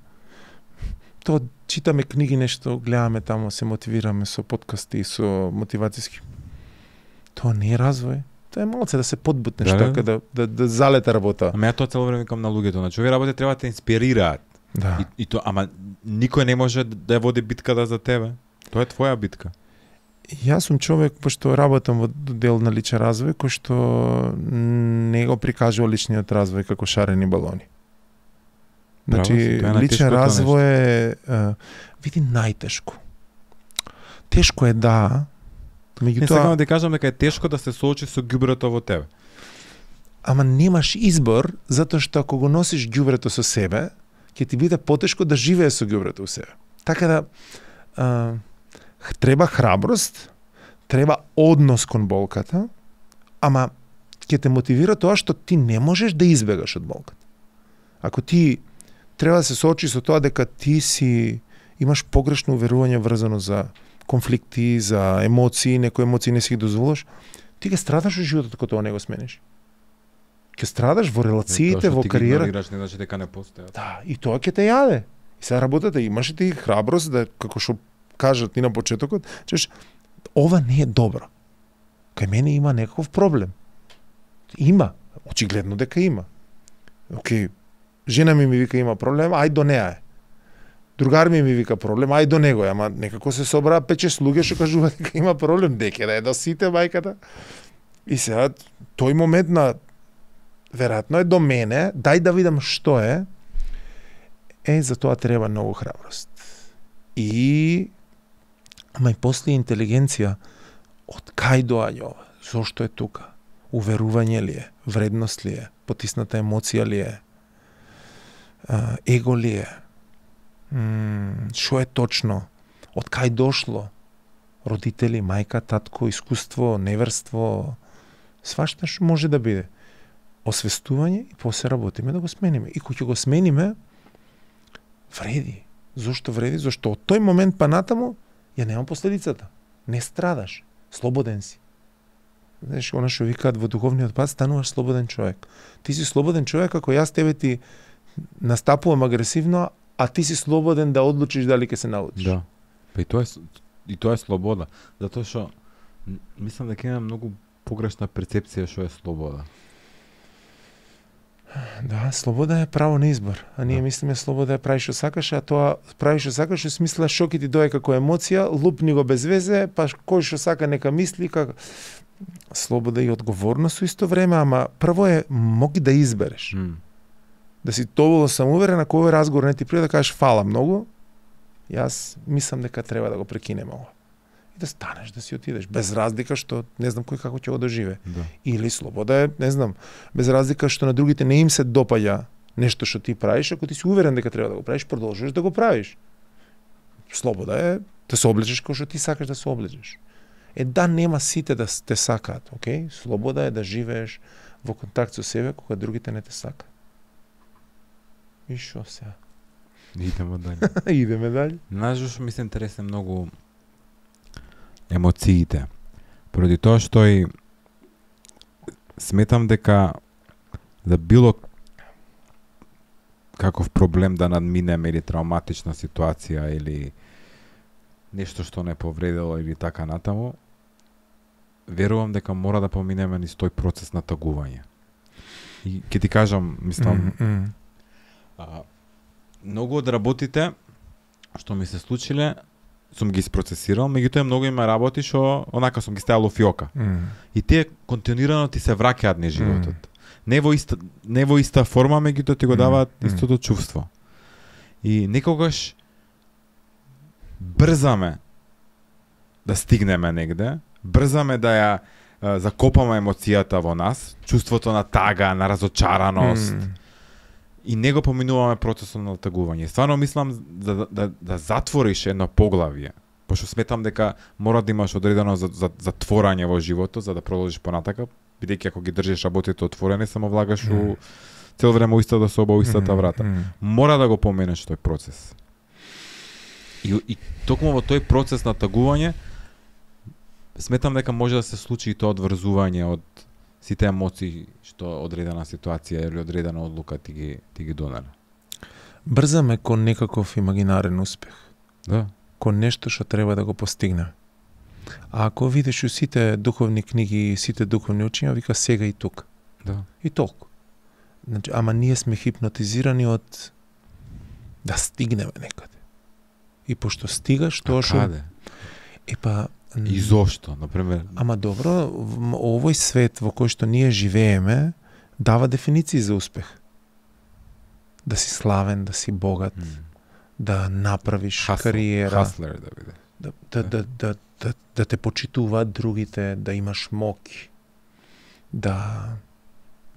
Тоа читаме книги, нешто гледаме тамо, се мотивираме со подкасти, со мотивацијски. Тоа не е развој. Тоа е малце да се подбутнеш Да, да. така да да да залета работа. Ама ја тоа цело време викам на луѓето, значи овие работи треба да те инспирираат. Да. И, и то, ама никој не може да ја води битката за тебе. Тоа е твоја битка. Јас сум човек, пошто работам во дел на личен развој, кој што не го прикажува личниот развој како шарени балони. Значи, личен развој е, е, види, најтешко. Тешко е, да, меѓутоа... Не сакам да кажам дека е тешко да се соочи со ѓубрето во тебе. Ама немаш избор, затоа што ако го носиш ѓубрето со себе, ќе ти биде потешко да живее со ѓубрето во себе. Така да, а, треба храброст, треба однос кон болката, ама ќе те мотивира тоа што ти не можеш да избегаш од болката. Ако ти треба да се соочи со тоа дека ти си имаш погрешно уверување врзано за конфликти, за емоции, некои емоции не си ги дозволиш, ти ќе страдаш во животот кога тоа не го смениш. Ќе страдаш во релациите, во кариера. Тоа што ти ги игнорираш не значи дека не постојат. Да, и тоа ќе те јаде. И сега работата имаш ти храброст да, како што кажат ни на почетокот, чеш ова не е добро. Кај мене има некаков проблем. Има, очигледно дека има. Океј, жена ми ми вика има проблем, ај до неа е. Другар ми ми вика проблем, ај до него е, ама некако се собраа пет-шест луѓе што кажуваат дека има проблем, дека да е до сите мајката. И сега тој момент на веројатно е до мене, дај да видам што е. Е, за тоа треба многу храброст. И ама и после интелигенција, од кај доаѓа ова? Зошто е тука? Уверување ли е? Вредност ли е? Потисната емоција ли е? А, его ли е? Што е точно? Од кај дошло? Родители, мајка, татко, искуство, неверство, свашта што може да биде. Освестување и после работиме да го смениме. И кога ќе го смениме, вреди. Зошто вреди? Зошто од тој момент па натаму ја нема последицата. Не страдаш. Слободен си. Знаеш, она што викаат во духовниот пат, стануваш слободен човек. Ти си слободен човек ако јас тебе ти настапувам агресивно, а ти си слободен да одлучиш дали ќе се научиш. Да. Па и тоа е и тоа е слобода, затоа што мислам дека има многу погрешна перцепција што е слобода. Да, слобода е право на избор. А ние да. мислиме слобода е прави што сакаш, а тоа прави што сакаш, во смисла што ќе ти дое како емоција, лупни го без везе, па кој што сака нека мисли како слобода и одговорност со исто време, ама прво е моги да избереш. Mm. Да си доволно самоуверен, ако овој разговор не ти пријде да кажеш фала многу, јас мислам дека треба да го прекинеме ова. И да станеш, да си отидеш, без разлика што не знам кој како ќе го доживе. Да. Или слобода е, не знам, без разлика што на другите не им се допаѓа нешто што ти правиш, ако ти си уверен дека треба да го правиш, продолжуваш да го правиш. Слобода е да се облечеш како што ти сакаш да се облечеш. Е да нема сите да те сакаат, окей? Слобода е да живееш во контакт со себе кога другите не те сакаат. И шо сега? Идеме дале. Идеме дале. Знаеш што ми се интересен многу емоциите. Поради тоа што и сметам дека за било каков проблем да надминеме или травматична ситуација или нешто што не повредило или така натаму, верувам дека мора да поминеме низ тој процес на тагување. И ќе ти кажам, мислам, Mm, mm. а, многу од работите што ми се случиле сум ги isprocesирал, меѓутоа многу има работи што онака сум ги ставил во фиока. Mm. И тие континуирано ти се враќаат низ животот. Mm. Не во иста не во иста форма, меѓутоа ти го даваат Mm. истото чувство. И некогаш брзаме да стигнеме негде, брзаме да ја а, закопаме емоцијата во нас, чувството на тага, на разочараност. Mm. И не го поминуваме процесот на тагување. Стварно мислам да, да, да, да затвориш едно поглавје, пошто сметам дека мора да имаш одредено за, за, затворање во животот за да продолжиш понатака, бидејќи ако ги држиш работите отворени, само влагаш mm. у цел време у истата соба, у истата врата. Mm. Мора да го поменеш тој процес. И, и токму во тој процес на тагување сметам дека може да се случи и тоа одврзување од сите емоции што одредена ситуација или одредена одлука ти ги ти ги донеле. Брзаме кон некаков имагинарен успех. Да. Кон нешто што треба да го постигне. А ако видиш у сите духовни книги и сите духовни учења, вика сега и тук. Да. И толку. Значи, ама ние сме хипнотизирани од да стигнеме некаде. И пошто стигаш, тоа што... Каде? Е па, И зошто, например? Ама добро, в овој свет во кој што ние живееме дава дефиниции за успех. Да си славен, да си богат, Mm. да направиш Hustle, кариера, hustler да биде. да, да, да, да, да, да те почитуваат другите, да имаш моќ, да,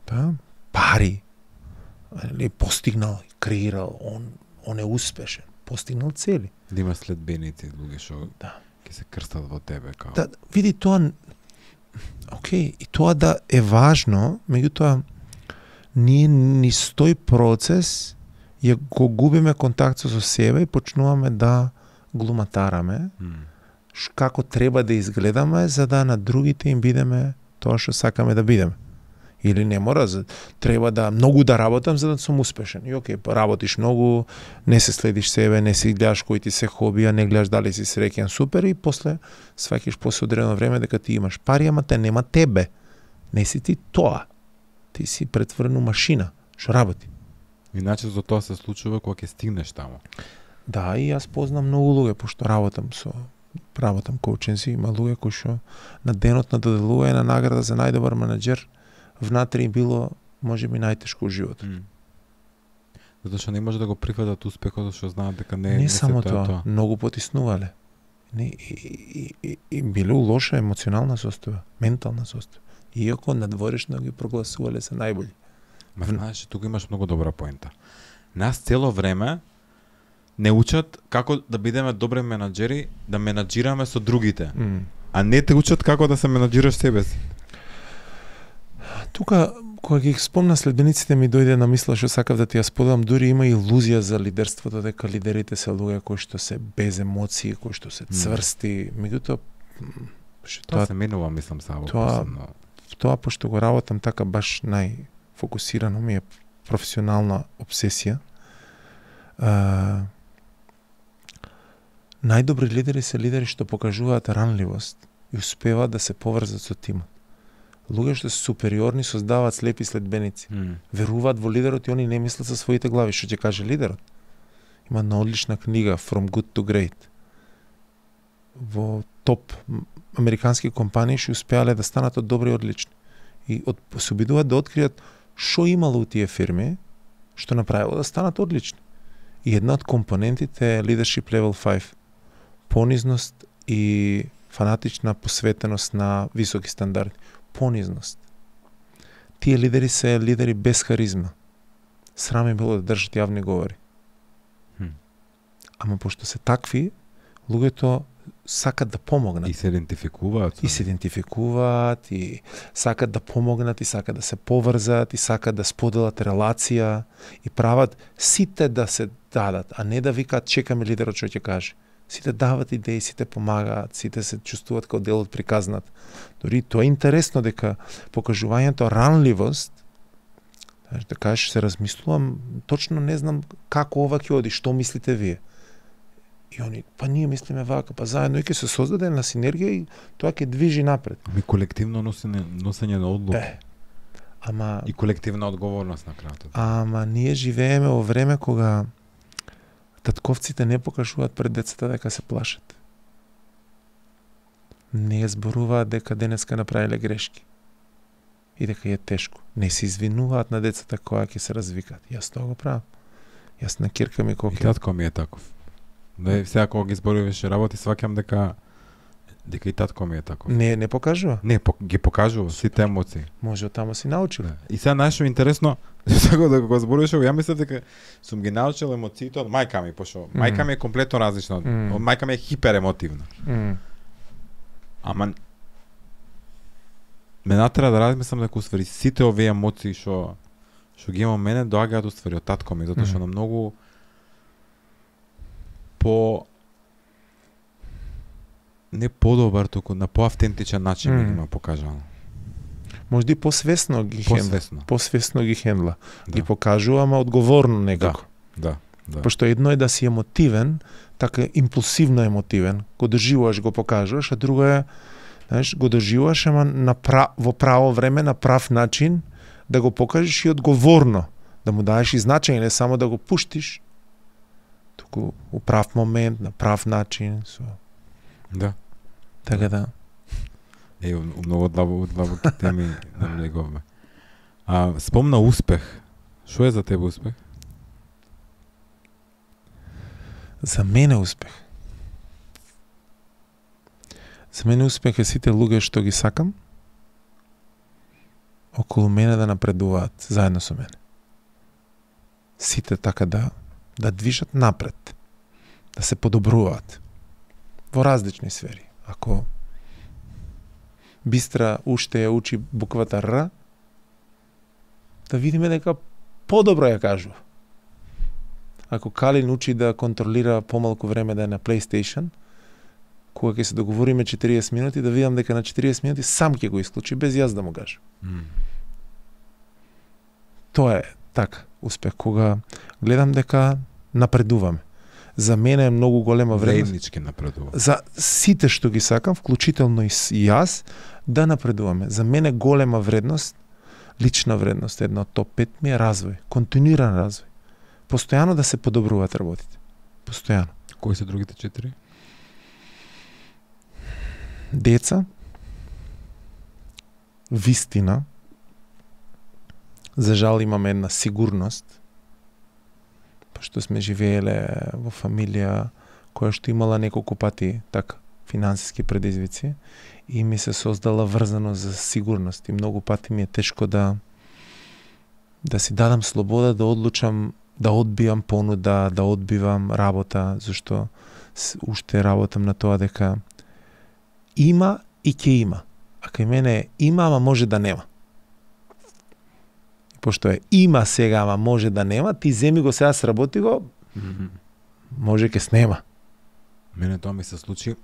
да пари, или постигнал, креирал, он, он е успешен, постигнал цели. Да имаш следбеници, луѓе што Да. ќе се крстат во тебе као. Да, види тоа, окей, и тоа да е важно, меѓутоа ние низ тој процес ја го губиме контакт со себе и почнуваме да глуматараме Mm. ш- како треба да изгледаме за да на другите им бидеме тоа што сакаме да бидеме. Или не мора, за- треба да многу да работам за да сум успешен. И окей, па работиш многу, не се следиш себе, не си гледаш кои ти се хобија, не гледаш дали си среќен, супер, и после сваќаш после одредено време дека ти имаш пари, ама те нема тебе. Не си ти тоа. Ти си претворен у машина, што работи. Иначе за тоа се случува кога ќе стигнеш таму. Да, и јас познам многу луѓе, пошто работам со работам коученси, има луѓе кои што на денот на доделување на награда за најдобар менаџер внатре им било можеби најтешко у животот. Mm. Затоа што не може да го прифатат успехот, што знаат дека не Не, не, не се само тоа, тоа, тоа. многу потиснувале. Не, и, и, и, и биле у лоша емоционална состојба, ментална состојба. Иако надворешно ги прогласувале за најбољи. Ма знаеш, тука имаш многу добра поента. Нас цело време не учат како да бидеме добри менаџери, да менаџираме со другите, Mm. а не те учат како да се менаџираш себе си. Тука, кога ги спомна следбениците, ми дојде на мисла што сакав да ти ја споделам, дури има илузија за лидерството, дека лидерите се луѓе кои што се без емоции, кои што се цврсти, меѓутоа м, што Тоа тоа се менува, мислам, само тоа- посебно. тоа пошто го работам така баш најфокусирано ми е професионална обсесија. А, најдобри лидери се лидери што покажуваат ранливост и успеваат да се поврзат со тимот. Луѓе што се супериорни создаваат слепи следбеници. Mm. Веруваат во лидерот и они не мислат со своите глави, што ќе каже лидерот. Има една одлична книга From Good to Great. Во топ м, американски компании што успеале да станат од добри и одлични. И од, се обидуваат да откријат што имало у тие фирми, што направило да станат одлични. И една од компонентите е Leadership Level пет. Понизност и фанатична посветеност на високи стандарди. Понизност. Тие лидери се лидери без харизма. Срам е било да држат јавни говори. Хм. Ама пошто се такви, луѓето сакат да помогнат. И се идентификуваат. со И се идентификуваат, и сакат да помогнат, и сакат да се поврзат, и сакат да споделат релација, и прават сите да се дадат, а не да викаат чекаме лидерот што ќе каже. Сите дават идеи, сите помагаат, сите се чувствуваат како дел од приказната. Дори тоа е интересно дека покажувањето ранливост, знаеш, да кажеш, се размислувам, точно не знам како ова ќе оди, што мислите вие? И они, па ние мислиме вака, па заедно и ќе се создаде на синергија и тоа ќе движи напред. Ми колективно носење, носење на одлуки. Е, ама, И колективна одговорност на крајот. ама ние живееме во време кога татковците не покажуваат пред децата дека се плашат. Не зборуваат дека денеска направиле грешки и дека е тешко. Не се извинуваат на децата кога ќе се развикат. Јас тоа го правам. Јас на кирка ми И коке. татко ми е таков. Да, сега кога ги зборуваше работи, сваќам дека дека и татко ми е таков. Не, не покажува. Не, по, ги покажува сите емоции. Може од таму си научил. Да. И сега нашо интересно, сега да го зборуваше, ја мислев дека сум ги научил емоциите од мајка ми, пошто Мм. мајка ми е комплетно различна. Мм. Од мајка ми е хиперемотивна. М. Ама ме натера да размислам дека уствари сите овие емоции што што ги имам мене доаѓаат уствари од татко ми, затоа што Мгм. на многу по не подобар, туку на поавтентичен начин ми Мм. ги има покажано. Можда и посвесно ги хендла. Посвесно. Посвесно ги хендла. Да. Ги покажува, ама одговорно некако. Да, да. Пошто едно е да си емотивен, така импулсивно емотивен, го доживуваш, го покажуваш, а друго е, знаеш, го доживуваш, ама на пра, во право време, на прав начин, да го покажеш и одговорно, да му даеш и значење, не само да го пуштиш, туку у прав момент, на прав начин, со... Да. Така да. Е, у многу длабоки длабоки теми навлеговме. А спомна успех. Што е за тебе успех? За мене успех. За мене успех е сите луѓе што ги сакам околу мене да напредуваат заедно со мене. Сите така да да движат напред, да се подобруваат во различни сфери. Ако Бистра уште ја учи буквата Р, да видиме дека подобро ја кажува. Ако Калин учи да контролира помалку време да е на PlayStation, кога ќе се договориме четириесет минути, да видам дека на четириесет минути сам ќе го исклучи без јас да му кажам. Mm. Тоа е така успех, кога гледам дека напредуваме. За мене е многу голема вредност. Заеднички напредува. За сите што ги сакам, вклучително и јас, да напредуваме. За мене голема вредност, лична вредност, една од топ пет ми е развој, континуиран развој. Постојано да се подобруваат работите. Постојано. Кои се другите четири? Деца, вистина, за жал имаме една сигурност, пошто сме живееле во фамилија која што имала неколку пати така финансиски предизвици и ми се создала врзано за сигурност и многу пати ми е тешко да да си дадам слобода да одлучам, да одбивам понуда, да одбивам работа, зашто уште работам на тоа дека има и ќе има. А кај мене има, ама може да нема. Пошто е има сега, ама може да нема, ти земи го сега, сработи го, mm-hmm. може ке снема. Мене тоа ми се случи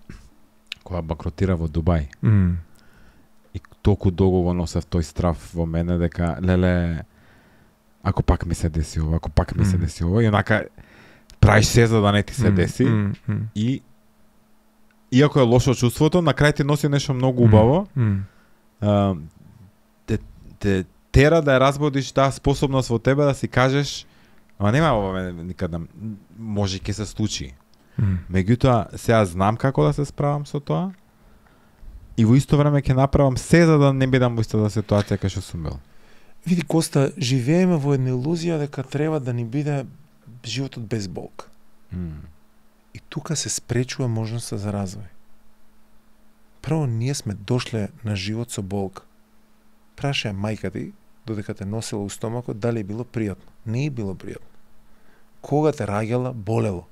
кога банкротира во Дубај. Mm. И толку долго го носев тој страв во мене дека леле ако пак ми се деси ова, ако пак ми mm. се деси ова, и онака правиш се за да не ти се mm. деси. Mm. Mm. И иако е лошо чувството, на крај ти носи нешто многу убаво. Mm. А, те, те тера да ја разбудиш таа способност во тебе да си кажеш ама нема ова никада може ќе се случи. Mm. Меѓутоа сега знам како да се справам со тоа и во исто време ќе направам се за да не бидам во истата ситуација кај што сум бил. Види, Коста, живееме во една илузија дека треба да ни биде животот без болка. Mm. И тука се спречува можноста за развој. Прво, ние сме дошле на живот со болка. Прашаја мајка ти, додека те носела у стомакот, дали е било пријатно. Не е било пријатно. Кога те раѓала, болело.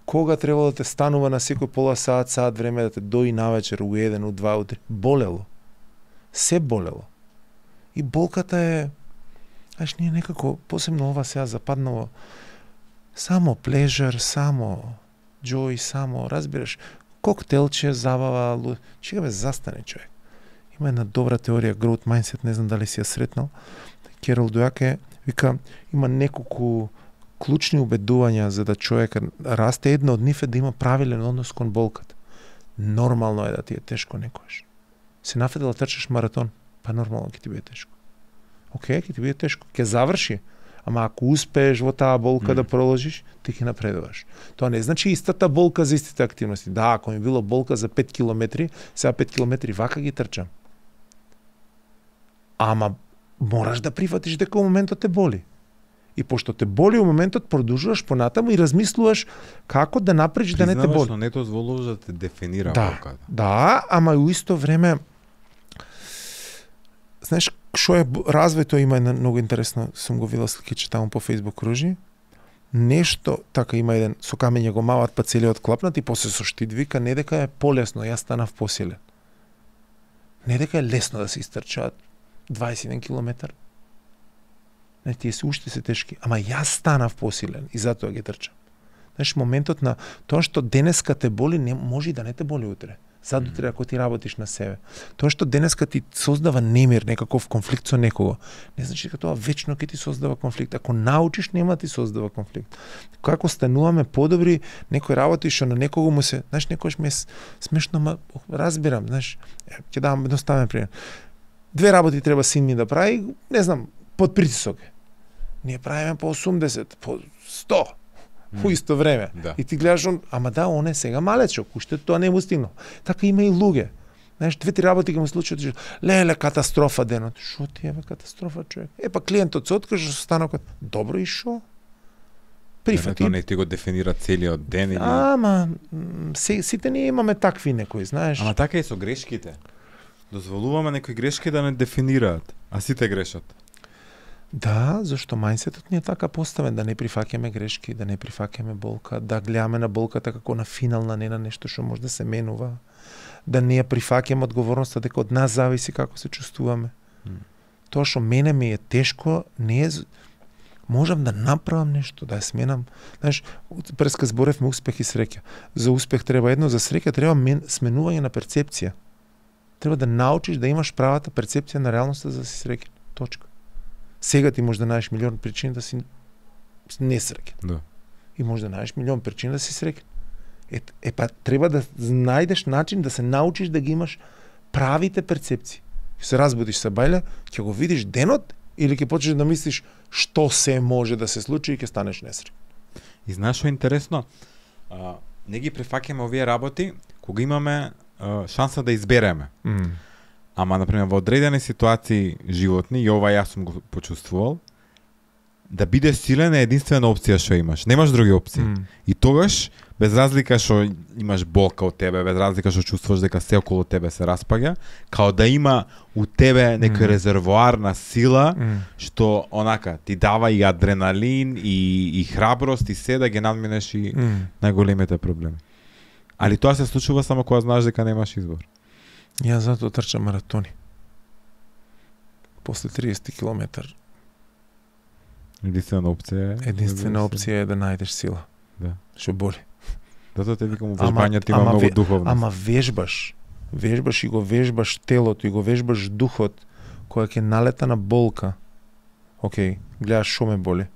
Кога требало да те станува на секој пола саат, саат време да те дои навечер, у еден, у два, у три, болело. Се болело. И болката е, аж ние некако, посебно ова сега западнало, само плежер, само joy, само, разбираш, коктелче, забава, чега бе, застане човек. Има една добра теорија, growth mindset, не знам дали си ја сретнал. Керол Дујаке вика, има неколку клучни убедувања за да човек расте. Една од нив е да има правилен однос кон болката. Нормално е да ти е тешко некојаш. Се нафедела трчаш маратон, па нормално ќе ти биде тешко. Океј, ќе ти биде тешко, ќе заврши. Ама ако успееш во таа болка mm. да проложиш, ти ќе напредуваш. Тоа не значи истата болка за истите активности. Да, ако ми било болка за пет километри, сега пет километри вака ги трчам. Ама мораш да прифатиш дека у моментот те боли. И пошто те боли у моментот, продолжуваш понатаму и размислуваш како да направиш да не те боли. Но не дозволуваш да те дефинира да, болката. Да, ама и у исто време знаеш што е развојто, има една многу интересно, сум го видел сликиче таму по Facebook кружи. Нешто така има еден со камење го мават па целиот клапнат и после со штит вика не дека е полесно, јас станав посилен. Не дека е лесно да се истрчаат дваесет и еден километар. Не, тие се уште се тешки, ама јас станав посилен и затоа ги трчам. Знаеш, моментот на тоа што денеска те боли, не може и да не те боли утре. Задутре ако ти работиш на себе. Тоа што денеска ти создава немир, некаков конфликт со некого, не значи дека тоа вечно ќе ти создава конфликт. Ако научиш, нема ти создава конфликт. Како стануваме подобри, некој работи што на некого му се, знаеш, некојаш ми е смешно, ма разбирам, знаеш, ќе дам едноставен пример. Две работи треба син ми да прави, не знам, под притисок. Ние правиме по осумдесет, по сто. во исто време. Да. И ти гледаш он, ама да, он е сега малечок, уште тоа не му стигнал. Така има и луѓе. Знаеш, две-три работи ќе му случат, леле, катастрофа денот. Шо ти е, бе, катастрофа, човек? Е, па клиентот се откаже со станокот. Добро, и шо? Прифати. Не, не ти го дефинира целиот ден или... Ама, се, сите ние имаме такви некои, знаеш. Ама така и со грешките. Дозволуваме некои грешки да не дефинираат, а сите грешат. Да, зашто мајндсетот ни е така поставен, да не прифаќаме грешки, да не прифаќаме болка, да гледаме на болката како на финална, не на нешто што може да се менува, да не ја прифаќаме одговорноста дека од нас зависи како се чувствуваме. Mm. Тоа што мене ми е тешко, не е... Можам да направам нешто, да ја сменам. Знаеш, преска зборевме успех и среќа. За успех треба едно, за среќа треба мен, сменување на перцепција. Треба да научиш да имаш правата перцепција на реалноста за да си среќен. Точка. Сега ти може да најдеш милион причини да си несреќен. Да. И може да најдеш милион причини да си среќен. Е, е па треба да најдеш начин да се научиш да ги имаш правите перцепции. Ќе се разбудиш са бајле, ќе го видиш денот или ќе почнеш да мислиш што се може да се случи и ќе станеш несреќен. И знаеш што е интересно? А, не ги префаќаме овие работи кога имаме а, шанса да избереме. Mm. Ама, например, во одредени ситуации животни, и ова јас сум го почувствувал, да бидеш силен е единствена опција што имаш. Немаш други опции. Mm. И тогаш, без разлика што имаш болка од тебе, без разлика што чувствуваш дека се околу тебе се распаѓа, као да има у тебе некој Mm. резервоар на сила, Mm. што онака ти дава и адреналин, и, и храброст, и се да ги надминеш и Mm. најголемите проблеми. Али тоа се случува само кога знаеш дека немаш избор. Ја затоа трчам маратони. После триесет километар. Единствена опција е... Единствена опција е да најдеш сила. Да. Што боли. Затоа те викам, Ама- вежбањето има ама многу ве- духовност. Ама вежбаш. Вежбаш и го вежбаш телото и го вежбаш духот која ќе налета на болка. Океј, гледаш шо ме боли.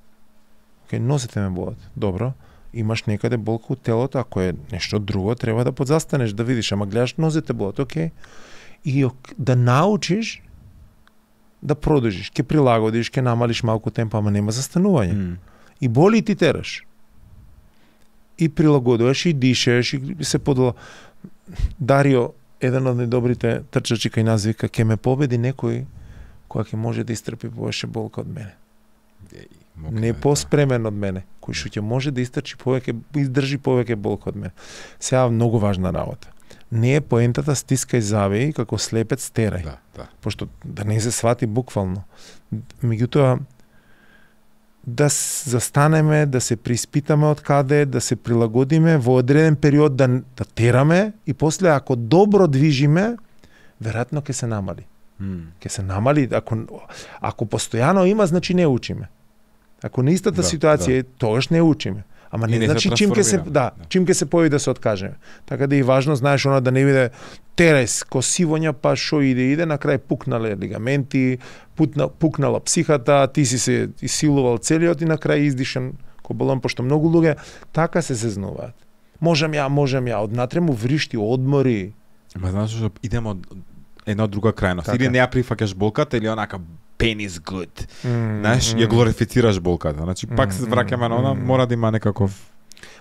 Океј, носите ме болат. Добро. Имаш некаде болка у телото, ако е нешто друго, треба да подзастанеш да видиш, ама гледаш нозете болат, океј. И ок- да научиш да продолжиш, ќе прилагодиш, ќе намалиш малку темпо, ама нема застанување. М. И боли и ти тераш. И прилагодуваш, и дишеш, и се подола. Дарио, еден од најдобрите трчачи кај нас вика, ќе ме победи некој која ќе може да истрпи повеќе болка од мене. Еј, мокре, Не да. поспремен од мене, кој што ќе може да истрчи повеќе, издржи повеќе болка од мене. Сега многу важна работа. Не е поентата стискај завеи како слепец терај. Да, да. Пошто да не се свати буквално. Меѓутоа, да с- застанеме, да се приспитаме од каде, да се прилагодиме во одреден период да, да тераме и после ако добро движиме, веројатно ќе се намали. М. Ќе се намали, ако, ако постојано има, значи не учиме. Ако на истата Да, ситуација, е, тогаш не учиме. Ама И не, не се значи чим ќе се трансформираме, да, да. чим ќе се појави да се откажеме. Така да и важно знаеш она да не биде терес, косивоња, па шо иде иде, на крај пукнале лигаменти, путна, пукнала психата, ти си се исилувал целиот и на крај издишан ко балон, пошто многу луѓе така се зезнуваат. Можам ја, можам ја, однатре му вришти, одмори. Ма знаеш што идемо од една друга крајност. Така. Или не ја прифаќаш болката, или онака pain is good. Mm, Знаеш, ја глорифицираш болката. Значи, пак се Mm, враќаме на она, mm. мора да има некаков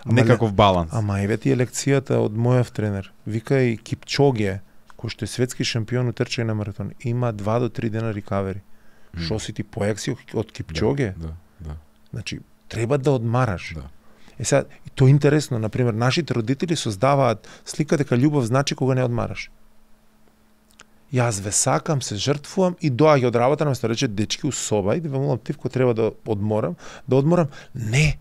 Ама некаков баланс. Ама еве ти е лекцијата од мојов тренер. Вика и Кипчоге, кој што е светски шампион у трчање на маратон, има два до три дена рикавери. М. Што си ти поек си од Кипчоге? Да, да. Значи, треба да одмараш. Да. Е сега, и тоа е интересно, например, нашите родители создаваат слика дека љубов значи кога не одмараш. Јас ве сакам, се жртвувам и доаѓа од работа, наместо да рече дечки у соба и да ве молам тивко треба да одморам, да одморам. Не.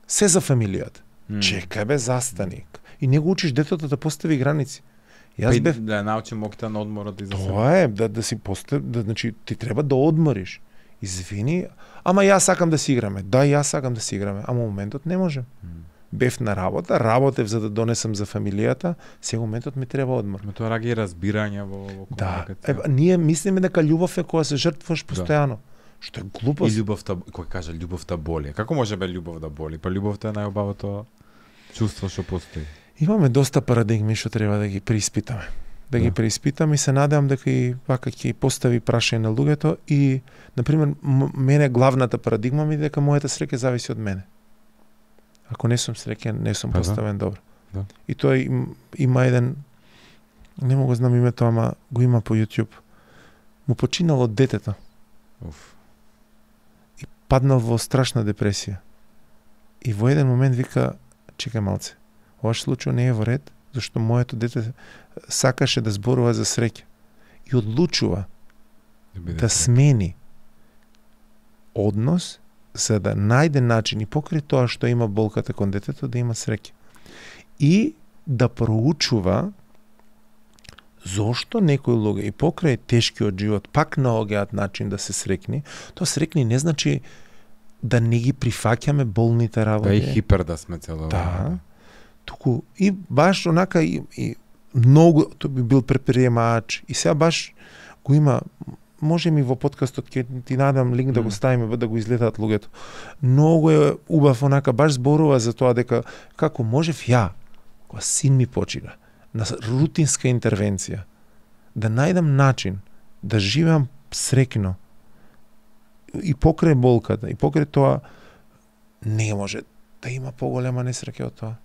Се за фамилијата. М. Чекај бе, застани. И не го учиш детето да постави граници. Па Јас и бев да ја научим моките на одморот и за себе. Тоа е, да, да си постав, да, значи, ти треба да одмориш. Извини, ама јас сакам да си играме. Да, јас сакам да си играме, ама моментот не можем. М. Бев на работа, работев за да донесам за фамилијата, сега моментот ми треба одмор. Ма тоа раѓа и разбирање во, во Да, комуникација. е, ние мислиме дека љубов е кога се жртвуваш постојано. Што е И глупост. љубовта, кој кажа љубовта боли. Како може бе љубов да боли? Па љубовта е најубавото чувство што постои. Имаме доста парадигми што треба да ги преиспитаме. Да, Да. ги преиспитам и се надевам дека и вака ќе постави прашање на луѓето и, например, м- мене главната парадигма ми е дека мојата среќа зависи од мене. Ако не сум среќен, не сум Па да. поставен добро. Да. И тоа им, има еден, не мога знам името, ама го има по YouTube. Му починало детето. Уф. И паднал во страшна депресија. И во еден момент вика, чекај малце, ова случај не е во ред, зашто моето дете сакаше да зборува за среќа. И одлучува да смени однос за да најде начин и покрај тоа што има болката кон детето да има среќа. И да проучува зошто некои луѓе и покрај тешкиот живот пак наоѓаат начин да се срекни. Тоа срекни не значи да не ги прифаќаме болните работи. Да и хипер да сме цело Да. време. Туку и баш онака и, и многу тој би бил предприемач и сега баш го има. Може ми во подкастот ќе ти надам линк да го ставиме да го изгледаат луѓето. Многу е убав онака баш зборува за тоа дека како можев ја кога син ми почина на рутинска интервенција да најдам начин да живеам срекно и покрај болката и покрај тоа не може да има поголема несреќа од тоа.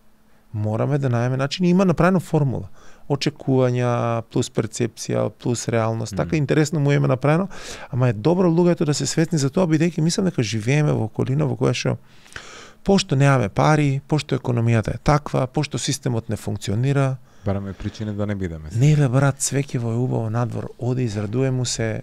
Мораме да најдеме начин и има направена формула. Очекувања плюс перцепција плюс реалност. Mm. Така интересно му е направено, ама е добро луѓето да се свесни за тоа бидејќи мислам дека живееме во околина во која што пошто немаме пари, пошто економијата е таква, пошто системот не функционира. Бараме причини да не бидеме. Не бе брат, свеќево е убаво надвор, оди израдуе му се.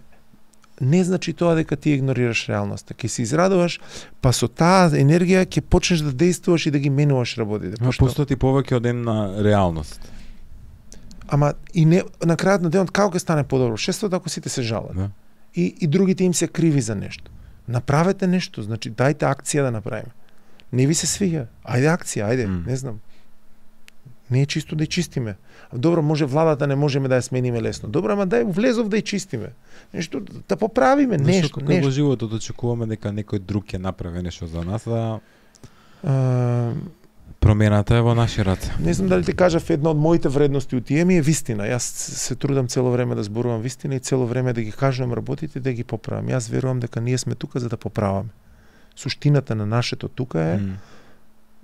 Не значи тоа дека ти игнорираш реалноста. Ке се израдуваш, па со таа енергија ќе почнеш да действуваш и да ги менуваш работите. Ама пошто ти повеќе од една реалност. Ама и не на крајот на денот како ќе стане подобро? Шестото ако сите се жалат. Да. И и другите им се криви за нешто. Направете нешто, значи дајте акција да направиме. Не ви се свиѓа. Ајде акција, ајде, mm. не знам. Не е чисто да ја чистиме. Добро, може владата не можеме да ја смениме лесно. Добро, ама дај влезов да ја чистиме. Нешто да поправиме, нешто, нешто. нешто. Во животот очекуваме дека некој друг ќе направи нешто за нас, да А, промената е во наши раце. не знам дали ти кажав една од моите вредности у тие ми е вистина. Јас се трудам цело време да зборувам вистина и цело време да ги кажувам работите да ги поправам. Јас верувам дека ние сме тука за да поправаме. Суштината на нашето тука е Mm.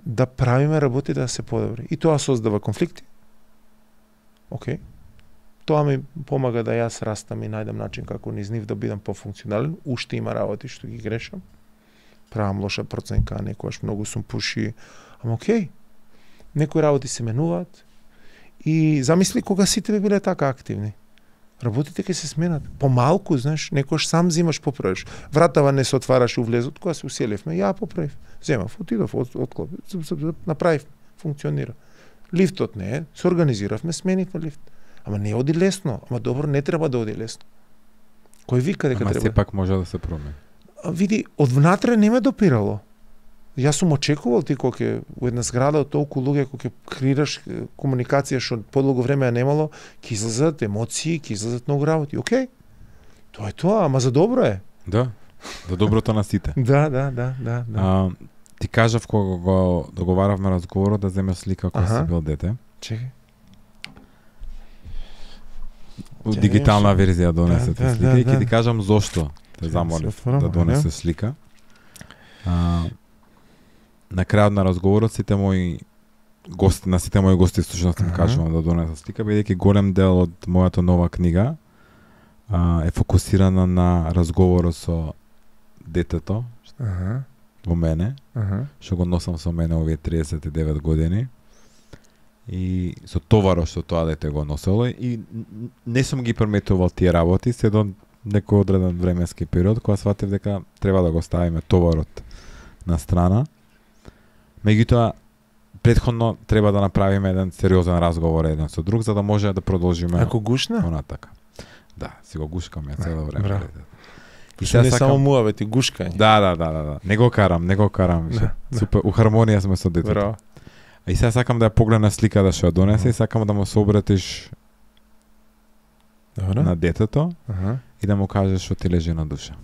да правиме работи да се подобри. И тоа создава конфликти. Океј. Тоа ми помага да јас растам и најдам начин како низ нив да бидам пофункционален. Уште има работи што ги грешам. Правам лоша проценка, некојаш многу сум пуши. Ама океј. Некои работи се менуваат. И замисли кога сите би биле така активни. Работите ќе се сменат. Помалку, знаеш, некојаш сам зимаш поправиш. Вратава не се отвараше у влезот, кога се уселивме, ја поправив. Земав, отидов, од, отклоп, направив, функционира. Лифтот не е, се организиравме, сменивме лифт. Ама не оди лесно, ама добро не треба да оди лесно. Кој вика дека Ама треба? сепак може да се промени. А, види, од внатре не ме допирало. Јас сум очекувал ти кога ќе во една зграда од толку луѓе кога ќе креираш комуникација што подолго време ја немало, ќе излезат емоции, ќе излезат многу работи. Океј. Тоа е тоа, ама за добро е. Да. За доброто на сите. Да, да, да, да, да. А, ти кажав кога го договаравме разговорот да земеш слика кога Аха. си бил дете. Чекај. Ќе Дигитална немаш- верзија донесе Да, да, слика да, и ќе да. ти кажам зошто те Ќе замолив се отворам, да ајде. донесе слика. А, на крајот на разговорот сите мои гости, на сите мои гости всушност им Аха. кажувам да донесат слика, бидејќи голем дел од мојата нова книга а, е фокусирана на разговорот со детето Аха, во мене, аха. што го носам со мене овие триесет и девет години. И со товарот што тоа дете го носело и н- не сум ги приметувал тие работи се до некој одреден временски период кога сватив дека треба да го ставиме товарот на страна. Меѓутоа претходно треба да направиме еден сериозен разговор еден со друг за да може да продолжиме Ако гушна? онатака. Да, си го гушкам ја цело време. браво. И Што не сега само сакам... муавети, гушкање. Да, да, да, да, да. Не го карам, не го карам. Да, Да, да. Супер, у хармонија сме со детето. Браво. И сега сакам да ја погледна сликата што ја донесе и сакам да му се обратиш Добро. на детето Аха. и да му кажеш што ти лежи на душа.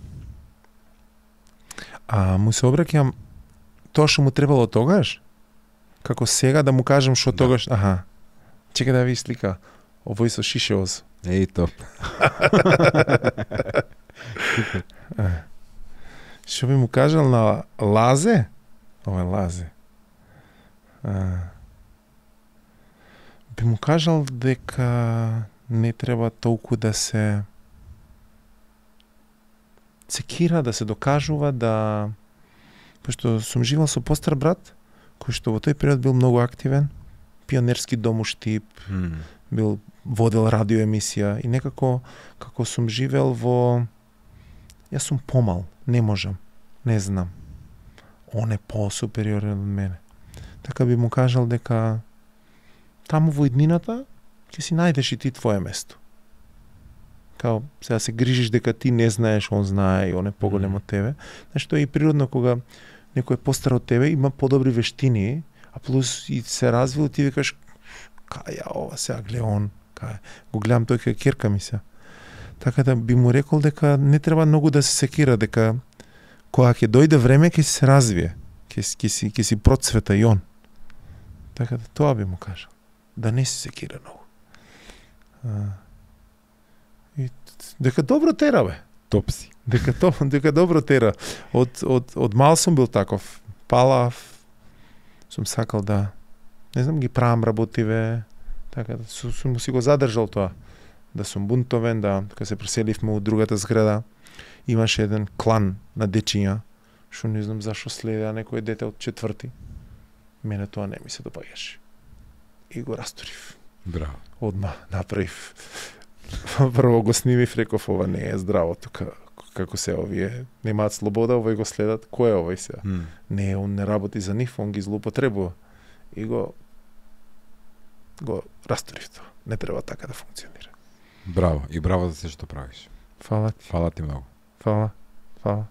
А му се обраќам тоа што му требало тогаш? Како сега да му кажам што Да. тогаш? Аха. Чекај да ви слика. Овој со шишеоз. Еј топ. Што би му кажал на Лазе? Ова е Лазе. А, би му кажал дека не треба толку да се секира, да се докажува, да... Пошто сум живел со постар брат, кој што во тој период бил многу активен, пионерски дом у Штип, Mm. бил водел радио емисија и некако како сум живел во... Јас сум помал, не можам, не знам. Он е по-супериорен од мене. Така би му кажал дека таму во иднината ќе си најдеш и ти твое место. Као сега се грижиш дека ти не знаеш, он знае и он е поголем Мгм. од тебе. Знаеш, тоа е и природно кога некој е постар од тебе, има подобри вештини, а плюс и се развил, ти викаш кај ја ова сега гледа он, кај го гледам тој кај керка ми се. Така да би му рекол дека не треба многу да се секира, дека кога ќе дојде време ќе се развие, ќе си- ќе си ќе си процвета и он. Така да тоа би му кажал. Да не се секира многу. А, и т- дека добро тера бе. Топ си. Дека то, дека добро тера. Од од од мал сум бил таков. Палав. Сум сакал да не знам ги правам работиве. Така да сум, сум си го задржал тоа. Да сум бунтовен, да кога се преселивме у другата зграда, имаше еден клан на дечиња, што не знам зашо следеа некој дете од четврти. Мене тоа не ми се допаѓаше. И го растурив. Браво. Одма направив. Прво го снимив, реков ова не е здраво тука. Како се овие немаат слобода, овој го следат. Кој е овој сега? Mm. Не, он не работи за нив, он ги злоупотребува. И го го растурив тоа. Не треба така да функционира. Браво. И браво за се што правиш. Фала ти, Фала ти многу. фала, фала.